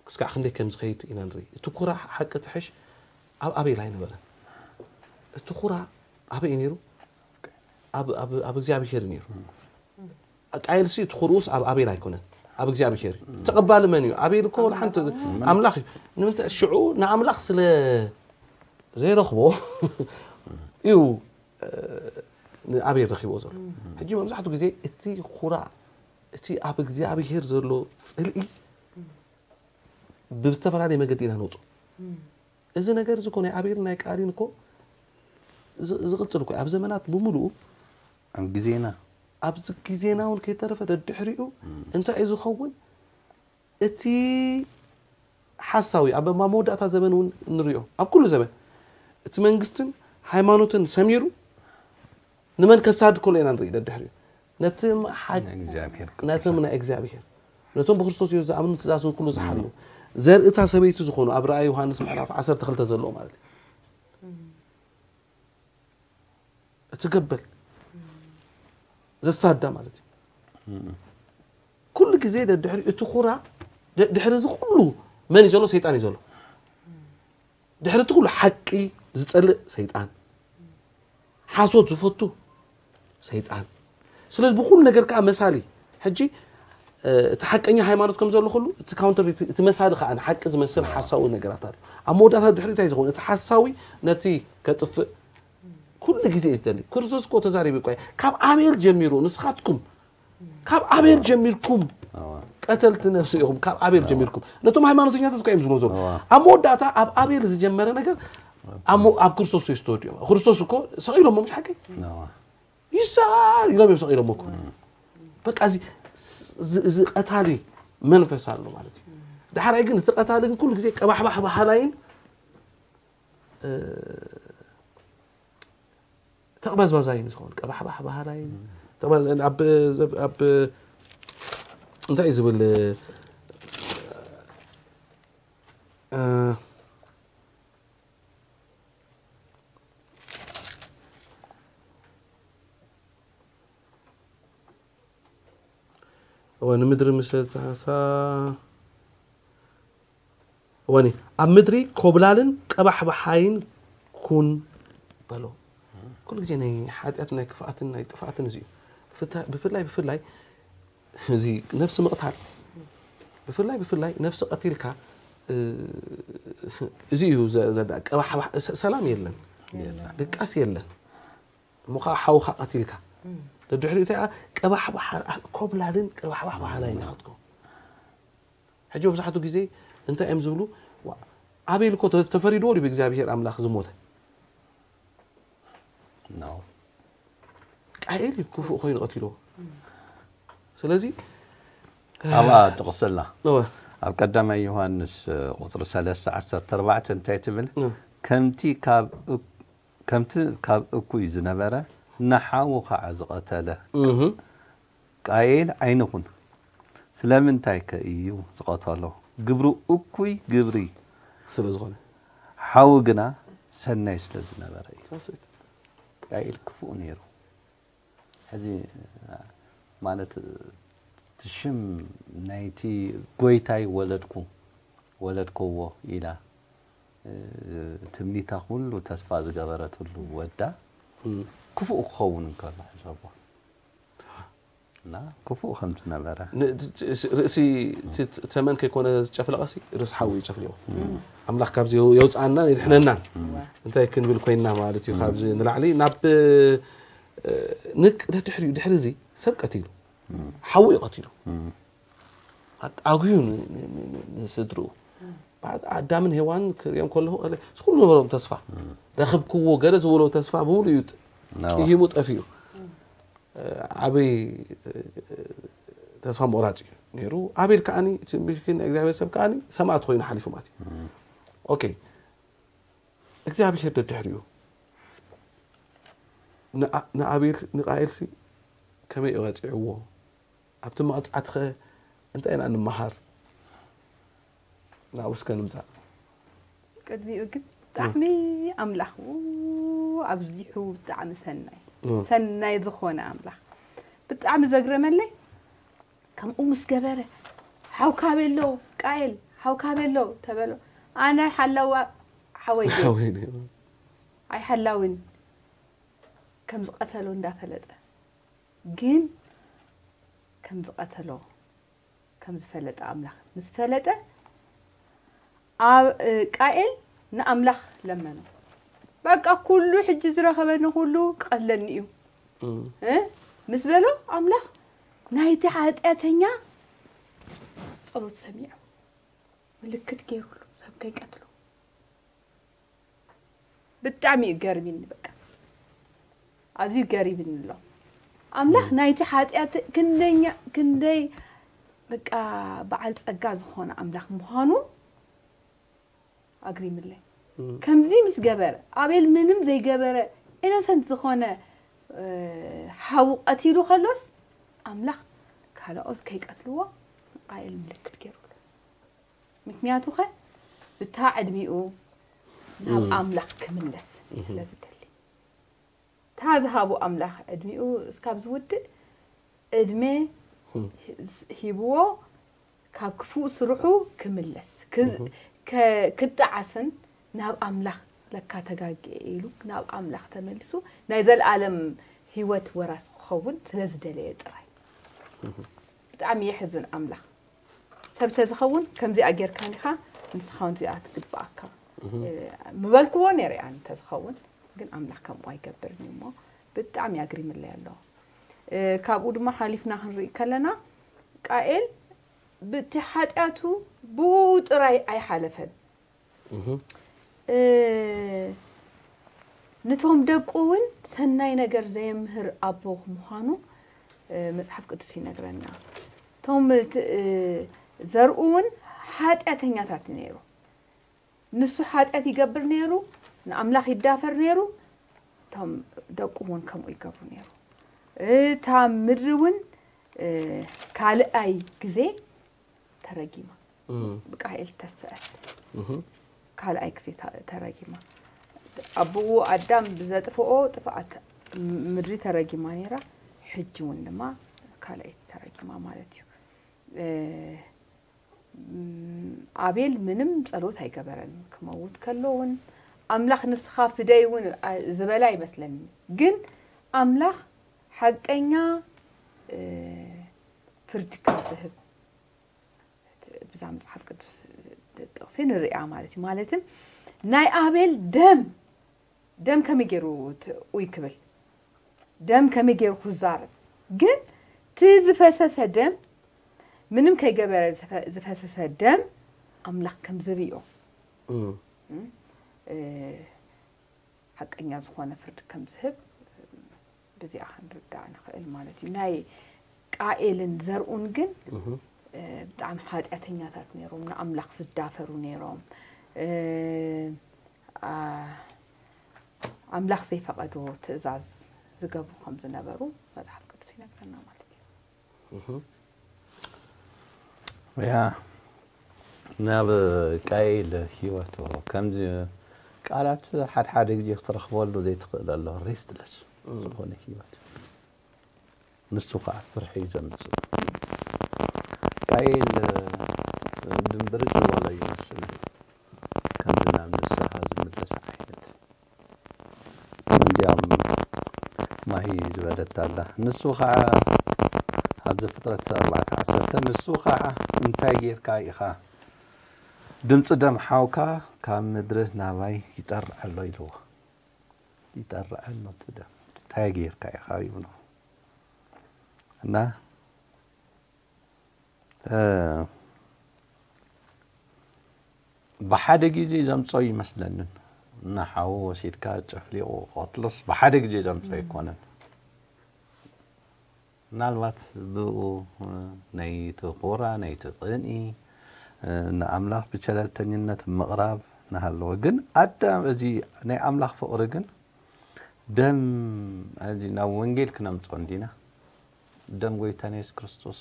ክስካዕ ክንደይ ከም ዝኸይድ ኢና ንርኢ። እቲ ኩራ ሓቂ ትሕሽ ኣብ ኣቤል ኣይነበረን። እቲ ኩራ ኣበይ እዩ ነይሩ? ኣብ እግዚኣብሔር እዩ ነይሩ። ቃየል ሲ እቲ ኩርኡስ ኣብ ኣቤል ኣይኮነን፣ ኣብ እግዚኣብሔር እዩ። ተቐባሊ መን እዩ? ኣቤል እኮ ሓንቲ ኣምላኽ እዩ። ንምንታይ ሽዑ ንኣምላኽ ስለ ዘይረኽቦ እዩ ንኣቤል ረኺቦ ዘሎ። ሕጂ መብዛሕትኡ ግዜ እቲ ኩራ እቲ ኣብ እግዚኣብሔር ዘሎ ጽልኢ ብዝተፈላለየ መገዲ ኢና ነውፅኦ። እዚ ነገር እዚ እኮ ናይ ኣቤል ናይ ቃሊን እኮ ዝ- ዝቕጽል እኮ ኣብ ዘመናት ብምሉኡ ኣብ ግዜና ኣብዚ ግዜና እውን ከይተረፈ ደድሕሪኡ እንታይ እዩ ዝኸውን? እቲ ሓሳዊ ኣብ ኣብ መወዳእታ ዘበን እውን ንሪኦ ኣብ ኩሉ ዘበን እቲ መንግስትን ሃይማኖትን ሰሚሩ ንመን ከሳድ ከሎ ኢና ንርኢ ደድሕሪኡ ነቲ ሓ- እግዚኣብሔር ነቶም ናይ እግዚኣብሔር ነቶም ብክርስቶስ የሱስ ዝኣምኑ ትእዛዝ እውን ኩሉ ዝሓሉ ዘርእታ ሰበይቲ ዝኾኑ ኣብ ራእይ ዮሃንስ ምዕራፍ ዓሰርተ ክልተ ዘለዎ ማለት እዩ እቲ ገበል ዘሳዳ ማለት እዩ ኩሉ ግዜ ደድሕሪ እቲ ኩራ ድ- ድሕሪ እዚ ኩሉ መን እዩ ዘሎ ሰይጣን እዩ ዘሎ ድሕሪ እቲ ኩሉ ሓቂ ዝፀልእ ሰይጣን ሓሶት ዝፈቱ ሰይጣን ስለዚ ብኩሉ ነገር ከዓ መሳሊ ሕጂ እቲ ሓቀኛ ሃይማኖት ከም ዘሎ ኩሉ እቲ ካውንተርፌት እቲ መሳሊ ከዓ ንሓቂ ዝመስል ሓሳዊ ነገራት ኣሎ ኣብ መወዳእታ ድሕሪ እንታይ ዝኸውን እቲ ሓሳዊ ነቲ ከጥፍእ ኩሉ ግዜ እዩ ዝደሊ ክርስቶስ እኮ ተዛሪቡ እኮ ካብ ኣቤል ጀሚሩ ንስኻትኩም ካብ ኣቤል ጀሚርኩም ቀተልቲ ነፍሲ ኢኹም ካብ ኣቤል ጀሚርኩም ነቶም ሃይማኖተኛታት እኮ እዮም ዝብሎ ዘሎ ኣብ መወዳእታ ኣብ ኣቤል ዝጀመረ ነገር ኣብ ክርስቶስ የስተወድዮም ክርስቶስ እኮ ሰቒሎሞ ምሽ ሓቂ ይሰኣል ኢሎም እዮም ሰቒሎሞ እኮ በቃ እዚ እዚ ቀታሊ መንፈስ ኣሎ ማለት እዩ ዳሕራይ ግን እቲ ቀታሊ ግን ኩሉ ግዜ ቀባሕባሕ ባህላይን ተቕበዝባዛይን ዝኸውን ቀባሕባሕ ባህላይን ተቕበዝ- ኣብ ዘብ- ኣብ እንታይ እዩ ዝብል እ፣ እወ ንምድሪ ምስ ተሃሳ እወኒ ኣብ ምድሪ ኮብላልን ቀባሕባሓይን ኩን በሎ ኩሉ ግዜ ናይ ሓጢኣት ናይ ክፍኣትን ናይ ጥፍኣትን እዚ እዩ ብፍታ- ብፍላይ ብፍላይ እዚ ነፍሲ ምቕታል ብፍላይ ብፍላይ ነፍሲ ቀቲልካ እ፣ እዚ እዩ ዘ- ዘዳ ቀባሕባሕ ሰ- ሰላም የለን ድቃስ የለን እሞ ከዓ ሓውካ ቀቲልካ ደድሕሪኡ እንታይ ቀባሕባሕ ኮብላልን ቀባሕባሕ ባህላይን ኢኻ ትከውን ሕጂ መብዛሕትኡ ግዜ እንታይ እዮም ዝብሉ ኣቤል እኮ ተፈሪድዎ ድዩ ብእግዚኣብሄር ኣምላኽ ዝሞተ ቃኤል እዩ ክፉእ ኮይኑ ቀቲልዎ ስለዚ ኣብኣ ጥቕስላ ኣብ ቀዳማይ ዮሃንስ ቁፅሪ ሰለስተ ዓሰርተ ኣርባዕተ እንታይ ትብል ከምቲ ካብ ከምቲ ካብ እኩይ ዝነበረ ንሓዉ ከዓ ዝቐተለ ቃኤል ዓይንኹን ስለምንታይ ከ እዩ ዝቐተሎ ግብሩ እኩይ ግብሪ ስለ ዝኾነ ሓዉ ግና ሰናይ ስለ ዝነበረ እዩ ቃኤል ክፉእ ነይሩ ሕዚ ማለት እቲ ሽም ናይቲ ጎይታይ ወለድኩ ወለድከዎ ኢላ ትምኒታ ኩሉ ተስፋ ዝገበረትሉ ወዳ ክፉእ ክኸውን እንከሎ ሕሰቦ እና ክፉእ ከም ዝነበረ ርእሲ ተመን ከይኮነ ዝጨፍለቐሲ ርእሲ ሓዊ ይጨፍልዎ ኣምላኽ ካብዚ የውፅኣናን የድሕነናን እንታይ ክንብል ኮይንና ማለት እዩ ካብዚ ንላዕሊ ናብ ንቅ ድሕሪ ድሕሪ እዚ ሰብ ቀቲሉ ሓዊ እዩ ቀቲሉ ኣጉዩ ንስድርኡ ኣዳምን ሄዋን ክሪኦም ከለኹ ኩሉ ነበሮም ተስፋ ረኽብክዎ ገለ ዝበሎ ተስፋ ብምሉ እዩ ቂሂሙ ጠፊኡ ዓበይ ተስፋ ምቑራፅ እዩ ነይሩ። ኣቤል ከዓኒ እቲ ምስኪን ናይ እግዚኣብሔር ሰብ ከዓኒ ሰማእት ኮይኑ ሓሊፉ ማለት እዩ። ኦኬ፣ እግዚኣብሔር ደድሕሪኡ ንኣ- ንኣቤል ንቃኤልሲ ከመይ እዩ ቀፂዕዎ? ኣብቲ መቕፃዕቲ ኸ እንታይ ኢና ንምሃር? ናብኡ እስከ ንምፃእ። ቅድሚኡ ግን ብጣዕሚ ኣምላኽ ኣብዚሑ ብጣዕሚ ሰናይ ሰናይ ዝኾነ ኣምላኽ ብጣዕሚ ዘግረመለይ ከምኡ ምስ ገበረ ሓውካ ቤሎ ቃኤል ሓውካ ቤሎ ተበሎ ኣነ ሓላዋ ሓወይ ኣይሓላዊን ከም ዝቐተሎ እንዳፈለጠ ግን ከም ዝቐተሎ ከም ዝፈለጠ ኣምላኽ ምስ ፈለጠ ቃኤል ንኣምላኽ ለመኖ። በቃ ኩሉ ሕጂ ዝረኸበኒ ኩሉ ክቐትለኒ እዩ ምስ በሎ ኣምላኽ ናይቲ ሓጢኣተኛ ጸሎት ሰሚዑ ምልክት ገይሩሉ ሰብ ከይቀትሎ። ብጣዕሚ እዩ ገርሚኒ በቃ ኣዝዩ ገሪምኒ ኣሎ ኣምላኽ ናይቲ ሓጢኣት ክንደኛ ክንደይ በቃ በዓል ጸጋ ዝኾነ ኣምላኽ ምዃኑ ኣግሪምለይ ከምዚ ምስ ገበረ ኣቤል ምንም ዘይገበረ ኢኖሰንት ዝኾነ ሓዉ ቀቲሉ ከሎስ ኣምላኽ ካልኦት ከይቀትልዎ ንቃኤል ምልክት ገይሩሉ ምክንያቱ ኸ ብታ ዕድሚኡ ናብ ኣምላኽ ክምለስ ስለ ዝደሊ እታ ዝሃቦ ኣምላኽ ዕድሚኡ እስካብ ዝውድእ ዕድመ ሂብዎ ካብ ክፉእ ስርሑ ክምለስ ክጣዓስን ናብ ኣምላኽ ለካ ተጋግየ ኢሉ ናብ ኣምላኽ ተመሊሱ ናይ ዘለኣለም ህይወት ወራስ ክኸውን ስለ ዝደለየ ጥራይ ብጣዕሚ የሕዝን ኣምላኽ ሰብ ተዝኸውን ከምዚኣ ጌርካን ኢኻ ንስኻ እውን እዚኣ ትግብኣካ ምበልክዎ ነይረ ኣነ ተዝኸውን ግን ኣምላኽ ከምኡ ኣይገብርን እዩ እሞ ብጣዕሚ ኣግሪምለይ ኣሎ ካብኡ ድማ ሓሊፍና ክንርኢ ከለና ቃኤል ብቲ ሓጢኣቱ ብኡ ጥራይ ኣይሓለፈን ንቶም ደቁ እውን ሰናይ ነገር ዘየምህር ኣቦ ምዃኑ መፅሓፍ ቅዱስ ይነግረና እቶም ዘርኡ እውን ሓጢኣተኛታት ነይሩ ንሱ ሓጢኣት ይገብር ነይሩ ንኣምላኽ ይዳፈር ነይሩ እቶም ደቁ እውን ከምኡ ይገብሩ ነይሩ እታ ምድሪ እውን ካልኣይ ግዜ ተረጊማ ብቃኤል ተሰአት ካልኣይ ግዜ ተረጊማ ኣቦኡ ኣዳም ብዘጥፍኦ ጥፍኣት ምድሪ ተረጊማ ነይራ ሕጂ እውን ድማ ካልኣይ ተረጊማ ማለት እዩ ኣቤል ምንም ጸሎት ኣይገበረን ክመውት ከሎ እውን ኣምላኽ ንስኻ ፍደይ እውን ዝበለ ኣይመስለኒ ግን ኣምላኽ ሓቀኛ ፍርዲ ከም ዝህብ ብዛ መፅሓፍ ቅዱስ ጥቕሲ ንሪኣ ማለት እዩ ማለትም ናይ ኣቤል ደም ደም ከመይ ገይሩ ትኡይ ክብል ደም ከመይ ገይሩ ክዛረብ ግን እቲ ዝፈሰሰ ደም ምንም ከይገበረ ዝፈሰሰ ደም ኣምላኽ ከም ዝርዮ ሓቀኛ ዝኾነ ፍርዲ ከም ዝህብ ብዚኣ ክንርዳእ ንኽእል ማለት እዩ ናይ ቃኤልን ዘርኡን ግን ብጣዕሚ ሓጢኣተኛታት ነይሮም ንኣምላኽ ዝዳፈሩ ነይሮም ኣምላኽ ዘይፈቐዶ ትእዛዝ ዝገብሩ ከም ዝነበሩ መፅሓፍ ቅዱስ ይነግረና ማለት እዩ ያ ናብ ቃይል ህይወቱ ከምዚ ቃላት ሓድሓደ ግዜ ክትረኽበሉ ዘይትኽእል ኣሎ ሬስትለስ ዝኾነ ህይወት ንሱ ከዓ ፍርሒ እዩ ዘምፅእ ቃይል ድንብርጭ ዝበሎ እዩ መስሉ ከምዚ ናብ ንስኻ ዝምለስ ዓይነት እንዲያም ማሂ ዝበለት ኣላ። ንሱ ኸዓ ኣብ ዘፍጥረት ኣርባዕተ ዓሰርተ ንሱ ኸዓ እንታይ ጌርካ ኢኻ ድምፂ ደም ሓውካ ካብ ምድሪ ናባይ ይጠርዕ ኣሎ ኢልዎ። ይጠርዕ ኣሎ እቲ ደም እንታይ ጌርካ ኢኻ ይብሎ እና ብሓደ ግዜ ዘምፀኦ ይመስለንን ንሓዉ ወሲድካ ጨፍሊቑ ቀትሎስ ብሓደ ግዜ ዘምፀኦ ኣይኮነን ምናልባት ብኡ ነይቲ ቁራ ነይቲ ቅንኢ ንኣምላኽ ብቸለልተኝነት ምቕራብ እናሃለወ ግን ኣዳም እዚ ናይ ኣምላኽ ፍቕሪ ግን ደም እዚ ናብ ወንጌል ክነምፅኦ እንዲና ደም ጎይታና የሱስ ክርስቶስ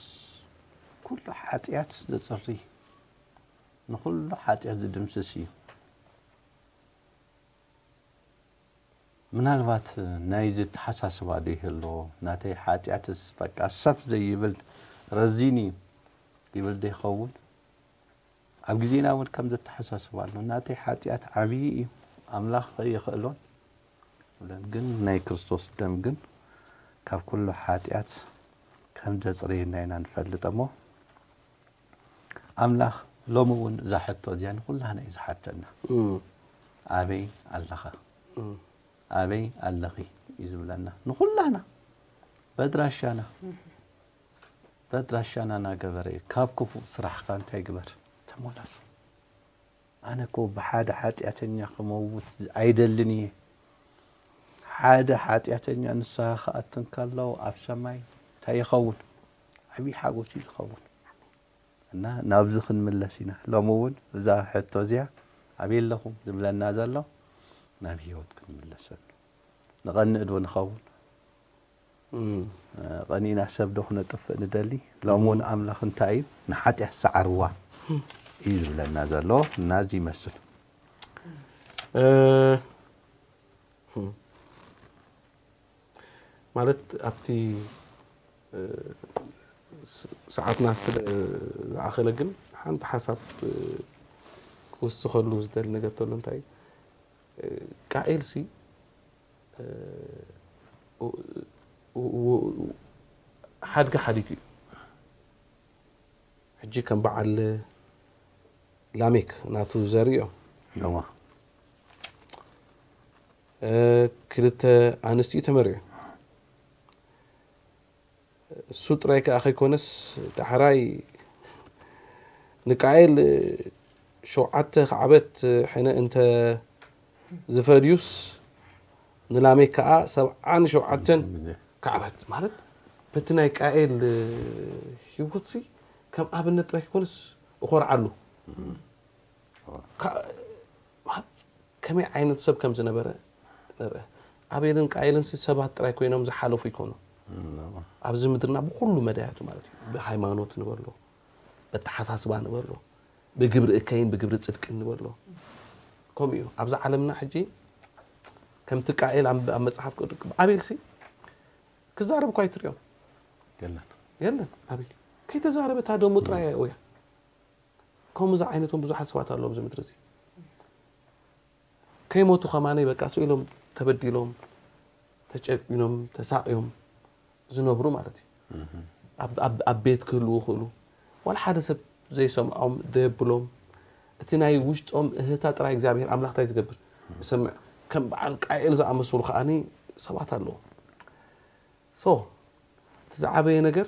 ኩሉ ሓጢኣት ዘፅሪ ንኹሉ ሓጢኣት ዝድምስስ እዩ። ምናልባት ናይዚ ተሓሳስባ ዶ ይህልዎ ናተይ ሓጢኣትስ በቃ ሰፍ ዘይብል ረዚን እዩ ይብል ዶ ይኸውን? ኣብ ግዜና እውን ከም ዘተሓሳስባ ኣሎ ናተይ ሓጢኣት ዓብዪ እዩ ኣምላኽ ይኽእሎን ግን ናይ ክርስቶስ ደም ግን ካብ ኩሉ ሓጢኣት ከም ዘፅርየና ኢና ንፈልጥ እሞ ኣምላኽ ሎሚ እውን እዛ ሕቶ እዚኣ ንኩላህና እዩ ዝሓተና ኣበይ ኣለኻ ኣበይ ኣለኺ እዩ ዝብለና ንኩላህና በድራሻና በድራሻና እናገበረ እዩ ካብ ክፉእ ስራሕኻ እንታይ ግበር ተመለሱ ኣነ እኮ ብሓደ ሓጢኣተኛ ክመውት ኣይደልን እየ ሓደ ሓጢኣተኛ ንስኻ ክኣትን ከለዉ ኣብ ሰማይ እንታይ ይኸውን ዓብዪ ሓጎስ እዩ ዝኸውን እና ናብዚ ክንምለስ ኢና ሎሚ እውን እዛ ሕቶ እዚኣ ኣበይ ኣለኹም ዝብለና ዘሎ ናብ ህይወት ክንምለሰሉ ንቐንእ ዶ ንኸውን ቀኒና ሰብ ዶ ክነጥፍእ ንደሊ ሎም እውን ኣምላኽ እንታይ እዩ ንሓጢኣት ሰዓርዋ እዩ ዝብለና ዘሎ እና እዚ ይመስል ማለት ኣብቲ ሰዓትና ስለ ዝኣኸለ ግን ሓንቲ ሓሳብ ክውስኸሉ ዝደሊ ነገር ተሎ እንታይ ቃኤል ሲ ሓድጊ ሓዲጉ እዩ ሕጂ ከም በዓል ላሜክ ናቱ ዘርእዮም ክልተ ኣንስትዩ ተመሪዑ እሱ ጥራይ ከኣ ከይኮነስ ዳሕራይ ንቃኤል ሸውዓተ ካዕበት ሕነ እንተ ዝፈድዩስ ንላሜክ ከኣ ሰብዓን ሸውዓተን ካዕበት ማለት በቲ ናይ ቃኤል ህይወትሲ ከም ኣብነት ጥራይ ከይኮነስ እኾርዓሉ ከመይ ዓይነት ሰብ ከም ዝነበረ ንርአ። ኣቤልን ቃየልን ሰባት ጥራይ ኮይኖም ዝሓለፉ ይኮኑ። ኣብዚ ምድርና ብኩሉ መዳያቱ ማለት እዩ። ብሃይማኖት ንበሎ፣ በተሓሳስባ ንበሎ፣ ብግብሪ እከይን ብግብሪ ጽድቅን ንበሎ። ከምኡ እዩ። ኣብዛ ዓለምና ሕጂ ከምቲ ቃኤል ኣብ መጽሓፍ ቅዱስ ኣቤልሲ ክዛረብ እኳ ኣይትሪኦም። የለን። የለን ኣቤል ከይተዛረበ እታ ደሙ ጥራይ እያ። ከምኡ ዝዓይነቶም ብዙሓት ሰባት ኣለዉ ኣብዚ ምድሪ እዚ። ከይሞቱ ከማነይ በቃ ስኢሎም ተበዲሎም ተጨቂኖም ተሳቅዮም ዝነብሩ ማለት እዩ። ኣብ ቤት ክህልዉ ክእሉ ዋላ ሓደ ሰብ ዘይሰምዖም ደየብሎም እቲ ናይ ውሽጦም እህታ ጥራይ እግዚኣብሔር ኣምላኽ እንታይ ዝገብር ዝሰምዕ ከም በዓል ቃኤል ዝኣመሰሉ ከዓኒ ሰባት ኣለዉ። So እቲ ዝዓበየ ነገር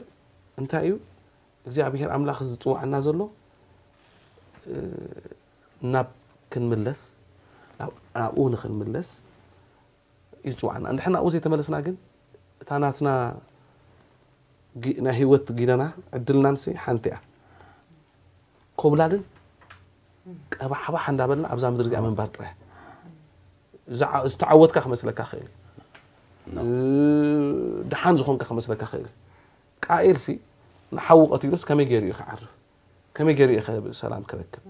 እንታይ እዩ እግዚኣብሔር ኣምላኽ ዝፅዋዕና ዘሎ ናብ ክንምለስ ናብኡ ንክንምለስ ይፅዋዕና እንድሕር ናብኡ ዘይተመለስና ግን እታ ናትና ናይ ህይወት ጊደና ዕድልናንሲ ሓንቲ እያ ኮብላልን ቀባሕባሕ እንዳበልና ኣብዛ ምድሪ እዚኣ ምንባር ጥራይ ዝተዓወትካ ክመስለካ ክእል ድሓን ዝኾንካ ክመስለካ ክእል ቃኤልሲ ንሓዉ ቀቲሉስ ከመይ ገይሩ እዩ ክዓርፍ ከመይ ገይሩ እዩ ሰላም ክረክብ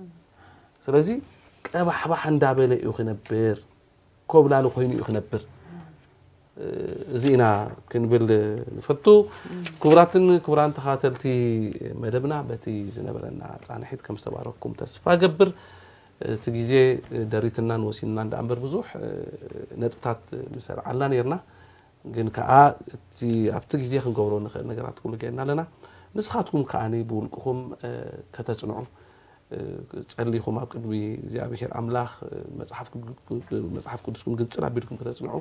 ስለዚ ቀባሕባሕ እንዳበለ እዩ ክነብር ኮብላሊ ኮይኑ እዩ ክነብር እዚ ኢና ክንብል ንፈቱ ክቡራትን ክቡራን ተኻተልቲ መደብና በቲ ዝነበረና ፃንሒት ከም ዝተባረኩም ተስፋ ገብር እቲ ግዜ ደሪትናን ወሲንናን ደኣ እምበር ብዙሕ ነጥብታት ምሰርዓልና ነርና ግን ከዓ እቲ ኣብቲ ግዜ ክንገብሮ ንኽእል ነገራት ኩሉ ገይርና ኣለና ንስኻትኩም ከዓ ብውልቅኹም ከተፅንዑ ጸሊኹም ኣብ ቅድሚ እግዚኣብሔር ኣምላኽ መጽሓፍ ቅዱስኩም ግንጽል ኣቢልኩም ከተጽንዑ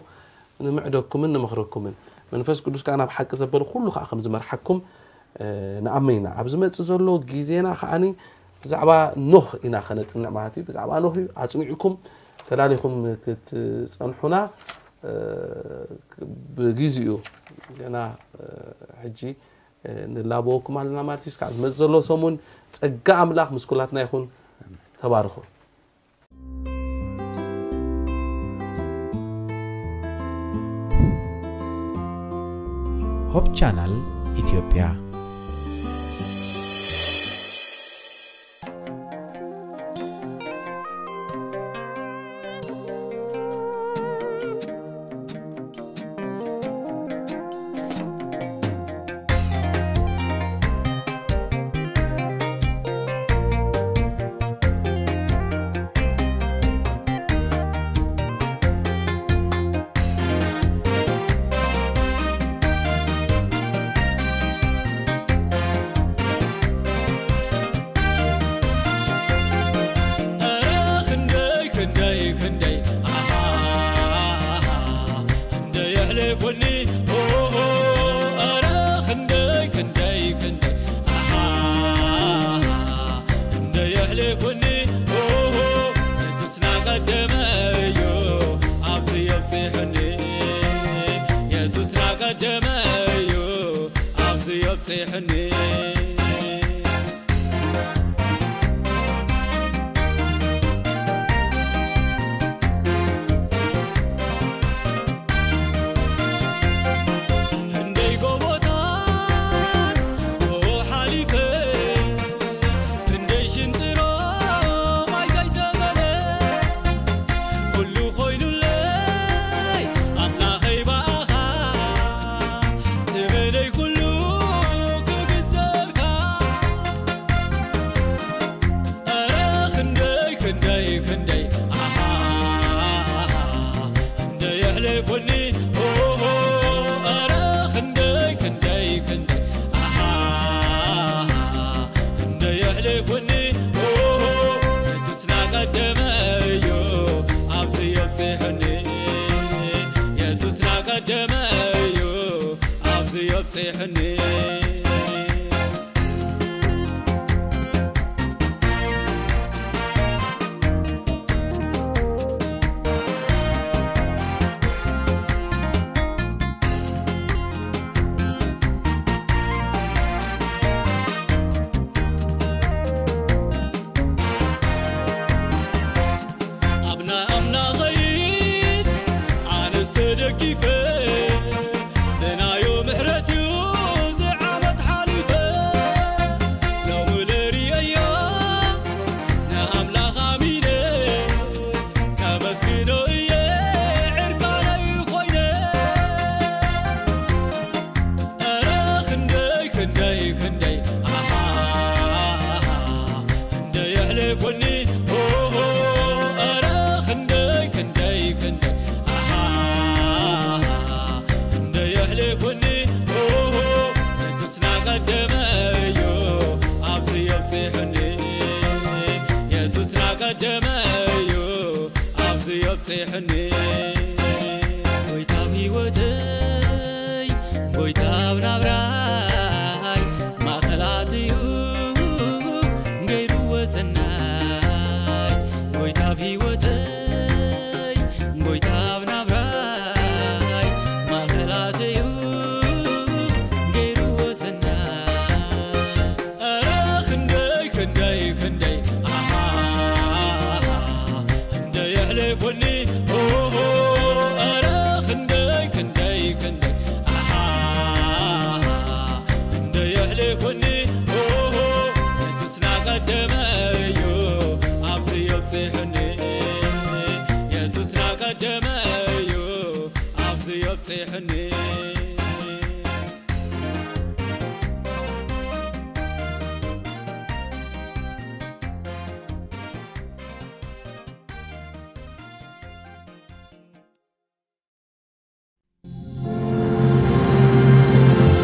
ንምዕደኩምን ንመኽረኩምን መንፈስ ቅዱስ ከኣ ናብ ሓቂ ዘበለ ኩሉ ከኣ ከም ዝመርሓኩም ንኣምን ኢና ኣብ ዝመጽእ ዘሎ ግዜና ከዓኒ ብዛዕባ ኖህ ኢና ከነጽንዕ ማለት እዩ ብዛዕባ ኖህ እዩ ኣጽኒዕኩም ተላሊኹም ክትጸንሑና እ፣ ብግዚኡ ገና፣ እ፣ ሕጂ፣ እ፣ ንላበወኩም ኣለና ማለት እዩ። እስካዕ ዝመጽእ ዘሎ ሰሙን ጸጋ ኣምላኽ ምስ ኩላትና ይኹን። ተባርኹ። ሆፕ ቻናል ኢትዮጵያ። ኧረ ክንደይ ክንደይ ክንደይ ኣሃ ክንደይ የሕልፉኒ ኦሆ ኧረ ክንደይ ክንደይ ክንደይ ኣሃ ክንደይ የሕልፉኒ ኦሆ የሱስ ናቀደመ እዩ ኣብዚ የብፅሕኒ የሱስ ናቀደመ እዩ ኣብዚ የብፅሕኒ ክንደይ ጎቦታት ብኡ ሓሊፈ ክንደይ ሽንጥሮ ማይ ዘይተመለ ኩሉ ኮይኑለይ ኣምላኸይ ብኣኻ ዘመነይ ኩሉ ክግዘልካ ኧረ ክንደይ ክንደይ ክንደይ ኣሃ ክንደይ የሕልፉኒ ኦሆ ኧረ ክንደይ ክንደይ ክንደይ ኣሃ ክንደይ የሕልፉኒ ኦሆ የሱስ ናቀደመ እዩ ኣብዚ የብፅሕኒ የሱስ ናቀደመ እዩ ኣብዚ የብፅሕኒ ኣብና ኣምላኸይ ኣነስ ተደጊፈ ብናዮ ምሕረት እዩ እዚ ዓመት ሓሊፈ ሎሚ ለርእዮ ንኣምላኽ ኣሚነ ከመስግኖ እየ ዕርቃነይ ኮይነ ኧረ ክንደይ ክንደይ ክንደይ ኣሃ ክንደይ የሕልፉኒ ኦሆ ኧረ ክንደይ ክንደይ ክንደይ ኣሃ ክንደይ የሕልፉኒ ኦሆ የሱስ ናቀደመ እዩ ኣብዚ የብፅሕኒ የሱስ ናቀደመ እዩ ኣብዚ የብፅሕኒ ጎይታ ኣብ ህይወተይ ጎይታ ኣብ ናብራይ ማእኸል ኣትዩ ገይርዎ ሰናይ ጎይታ ኣብ ህይወተይ ጎይታ ኣብ ናብራይ ማእኸል ኣትዩ ገይርዎ ሰናይ ኧረ ክንደይ ክንደይ ክንደይ ኣሃ ክንደይ የሕልፉኒ ኦሆ ኧረ ክንደይ ክንደይ ክንደይ ኣሃ ክንደይ የሕልፉኒ ኦሆ የሱስ ናቀደመ እዩ ኣብዚ የብፅሕኒ የሱስ ናቀደመ እዩ ኣብዚ የብፅሕኒ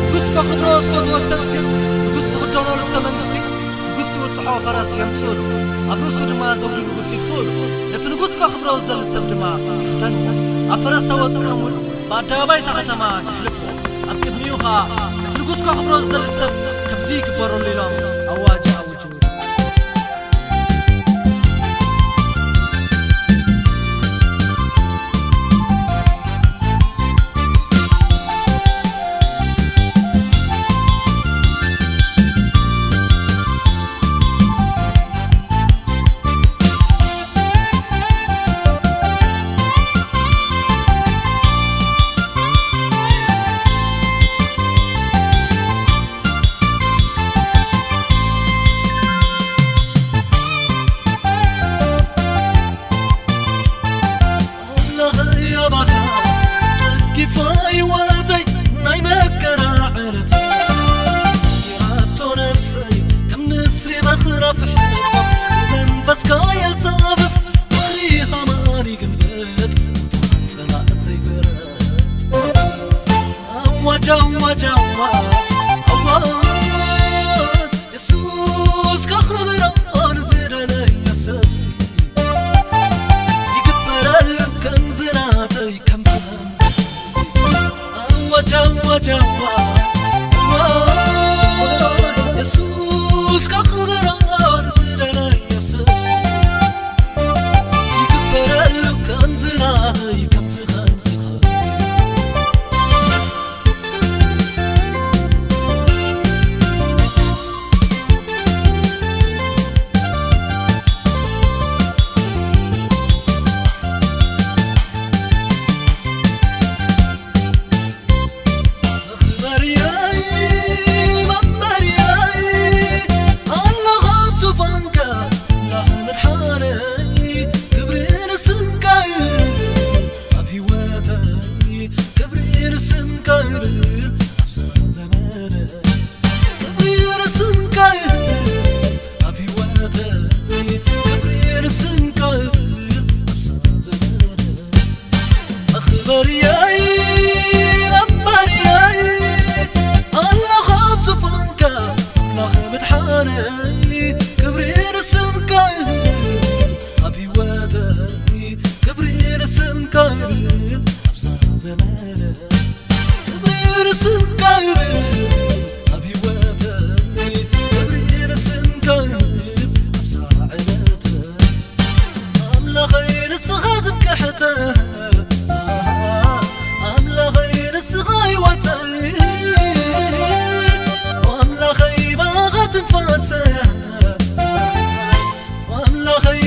ንጉስ ከኽብሮ ዝፈትዎ ሰብሲ ንጉስ ዝኽደኖ ልብሰ መንግስቲ ንጉስ ዝውትሖ ፈረስ የምጽኡሉ ኣብ ርእሱ ድማ ዘውዲ ንጉስ ይድፍኡሉ ነቲ ንጉስ ከኽብሮ ዝደሊ ሰብ ድማ ይኽደንዎ ኣብ ፈረስ ኣወጥዖሙን ብኣደባባይ እታ ከተማ የሕልፍዎ ኣብ ቅድሚኡ ኸኣ ነቲ ንጉስ ከኽብሮ ዝደሊ ሰብ ከምዚ ይግበረሉ ኢሎም ኣዋጅ ኣውጅ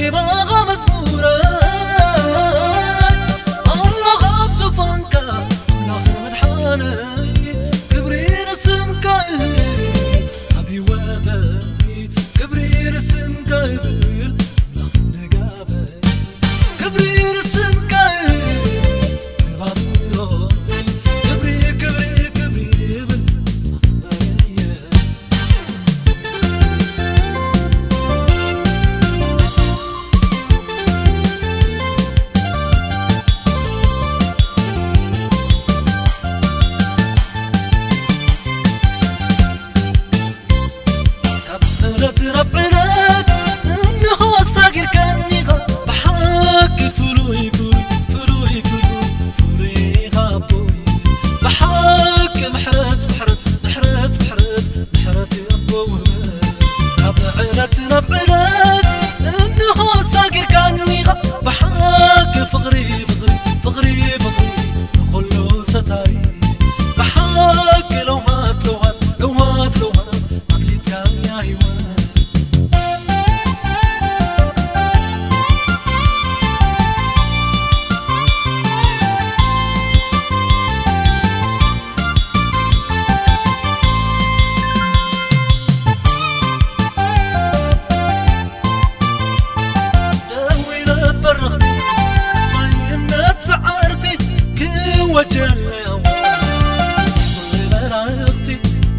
ይባኻ መዝሙረ ኣምላኽ ኣብ ዙፋንካ ኣምላኽ መድሓነይ ክብሪ ንስምካ ይብል ኣብ ህይወተይ ክብሪ ንስምካ ይብል ኣምላኽ ንጋበይ ክብሪ ንስምካ ይብል ክብሪ ክብሪ ክብሪ ይብል ኣኽበረየ ካብ ዕለት ናብ ዕለት እንሆ ኣሳጊርካኒኻ ብሓቂ ፍሉይ ፍሉይ ፍሉይ ፍሉይ ፍሉይ ኢኻ ኣቦይ ብሓቂ ምሕረት ምሕረት ምሕረት ምሕረት ምሕረት ኣቦ ውህበት ካብ ዕለት ናብ ዕለት እንሆ ኣሳጊርካኒኻ ብሓቂ ፍቕሪ ፍቕሪ ፍቕሪ ፍቕሪ ንኹሉ ሰታሪ ብሓቂ ለውሃት ለውሃት ለውሃት ለውሃት ኣፍሊጥካያ ህይወት ደዊለ በረኽቲ ስማይነት ሰዓርቲ ክወጀለያው መራኽቲ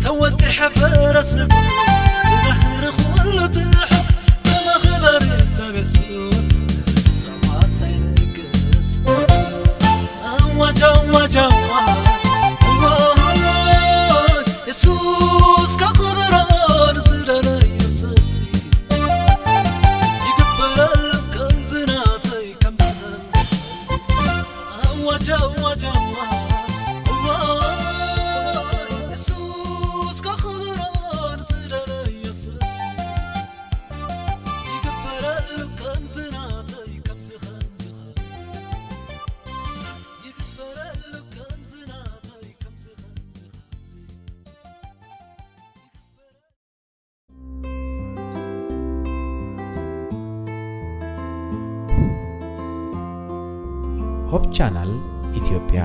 ተወጢሐ ፈረስ ንጉስ ዝዳህሪ ኩሉ ትሕስ ዘመኽበሪ ሰብ የሱስ ሰማሰይ ንግስ ኣዋጅ ኣዋጅ ኣዋጅ ኣዋጅ የሱስ ከኽብሮ ንዝደለዮ ሰብሲ ይግበረሉ ከምዚ ናተይ ከምዚ ኣዋጅ ኣዋጅ ኣዋጅ ኣዋጅ የሱስ ከኽብሮ ንዝደለዮ ሰብሲ ይግበረሉ ከምዚ ናተይ ከምዚ ከምዚ ከምዚ ይግበረሉ ከምዚ ናተይ ከምዚ ከምዚ ከምዚ ሆፕ ቻናል ኢትዮጵያ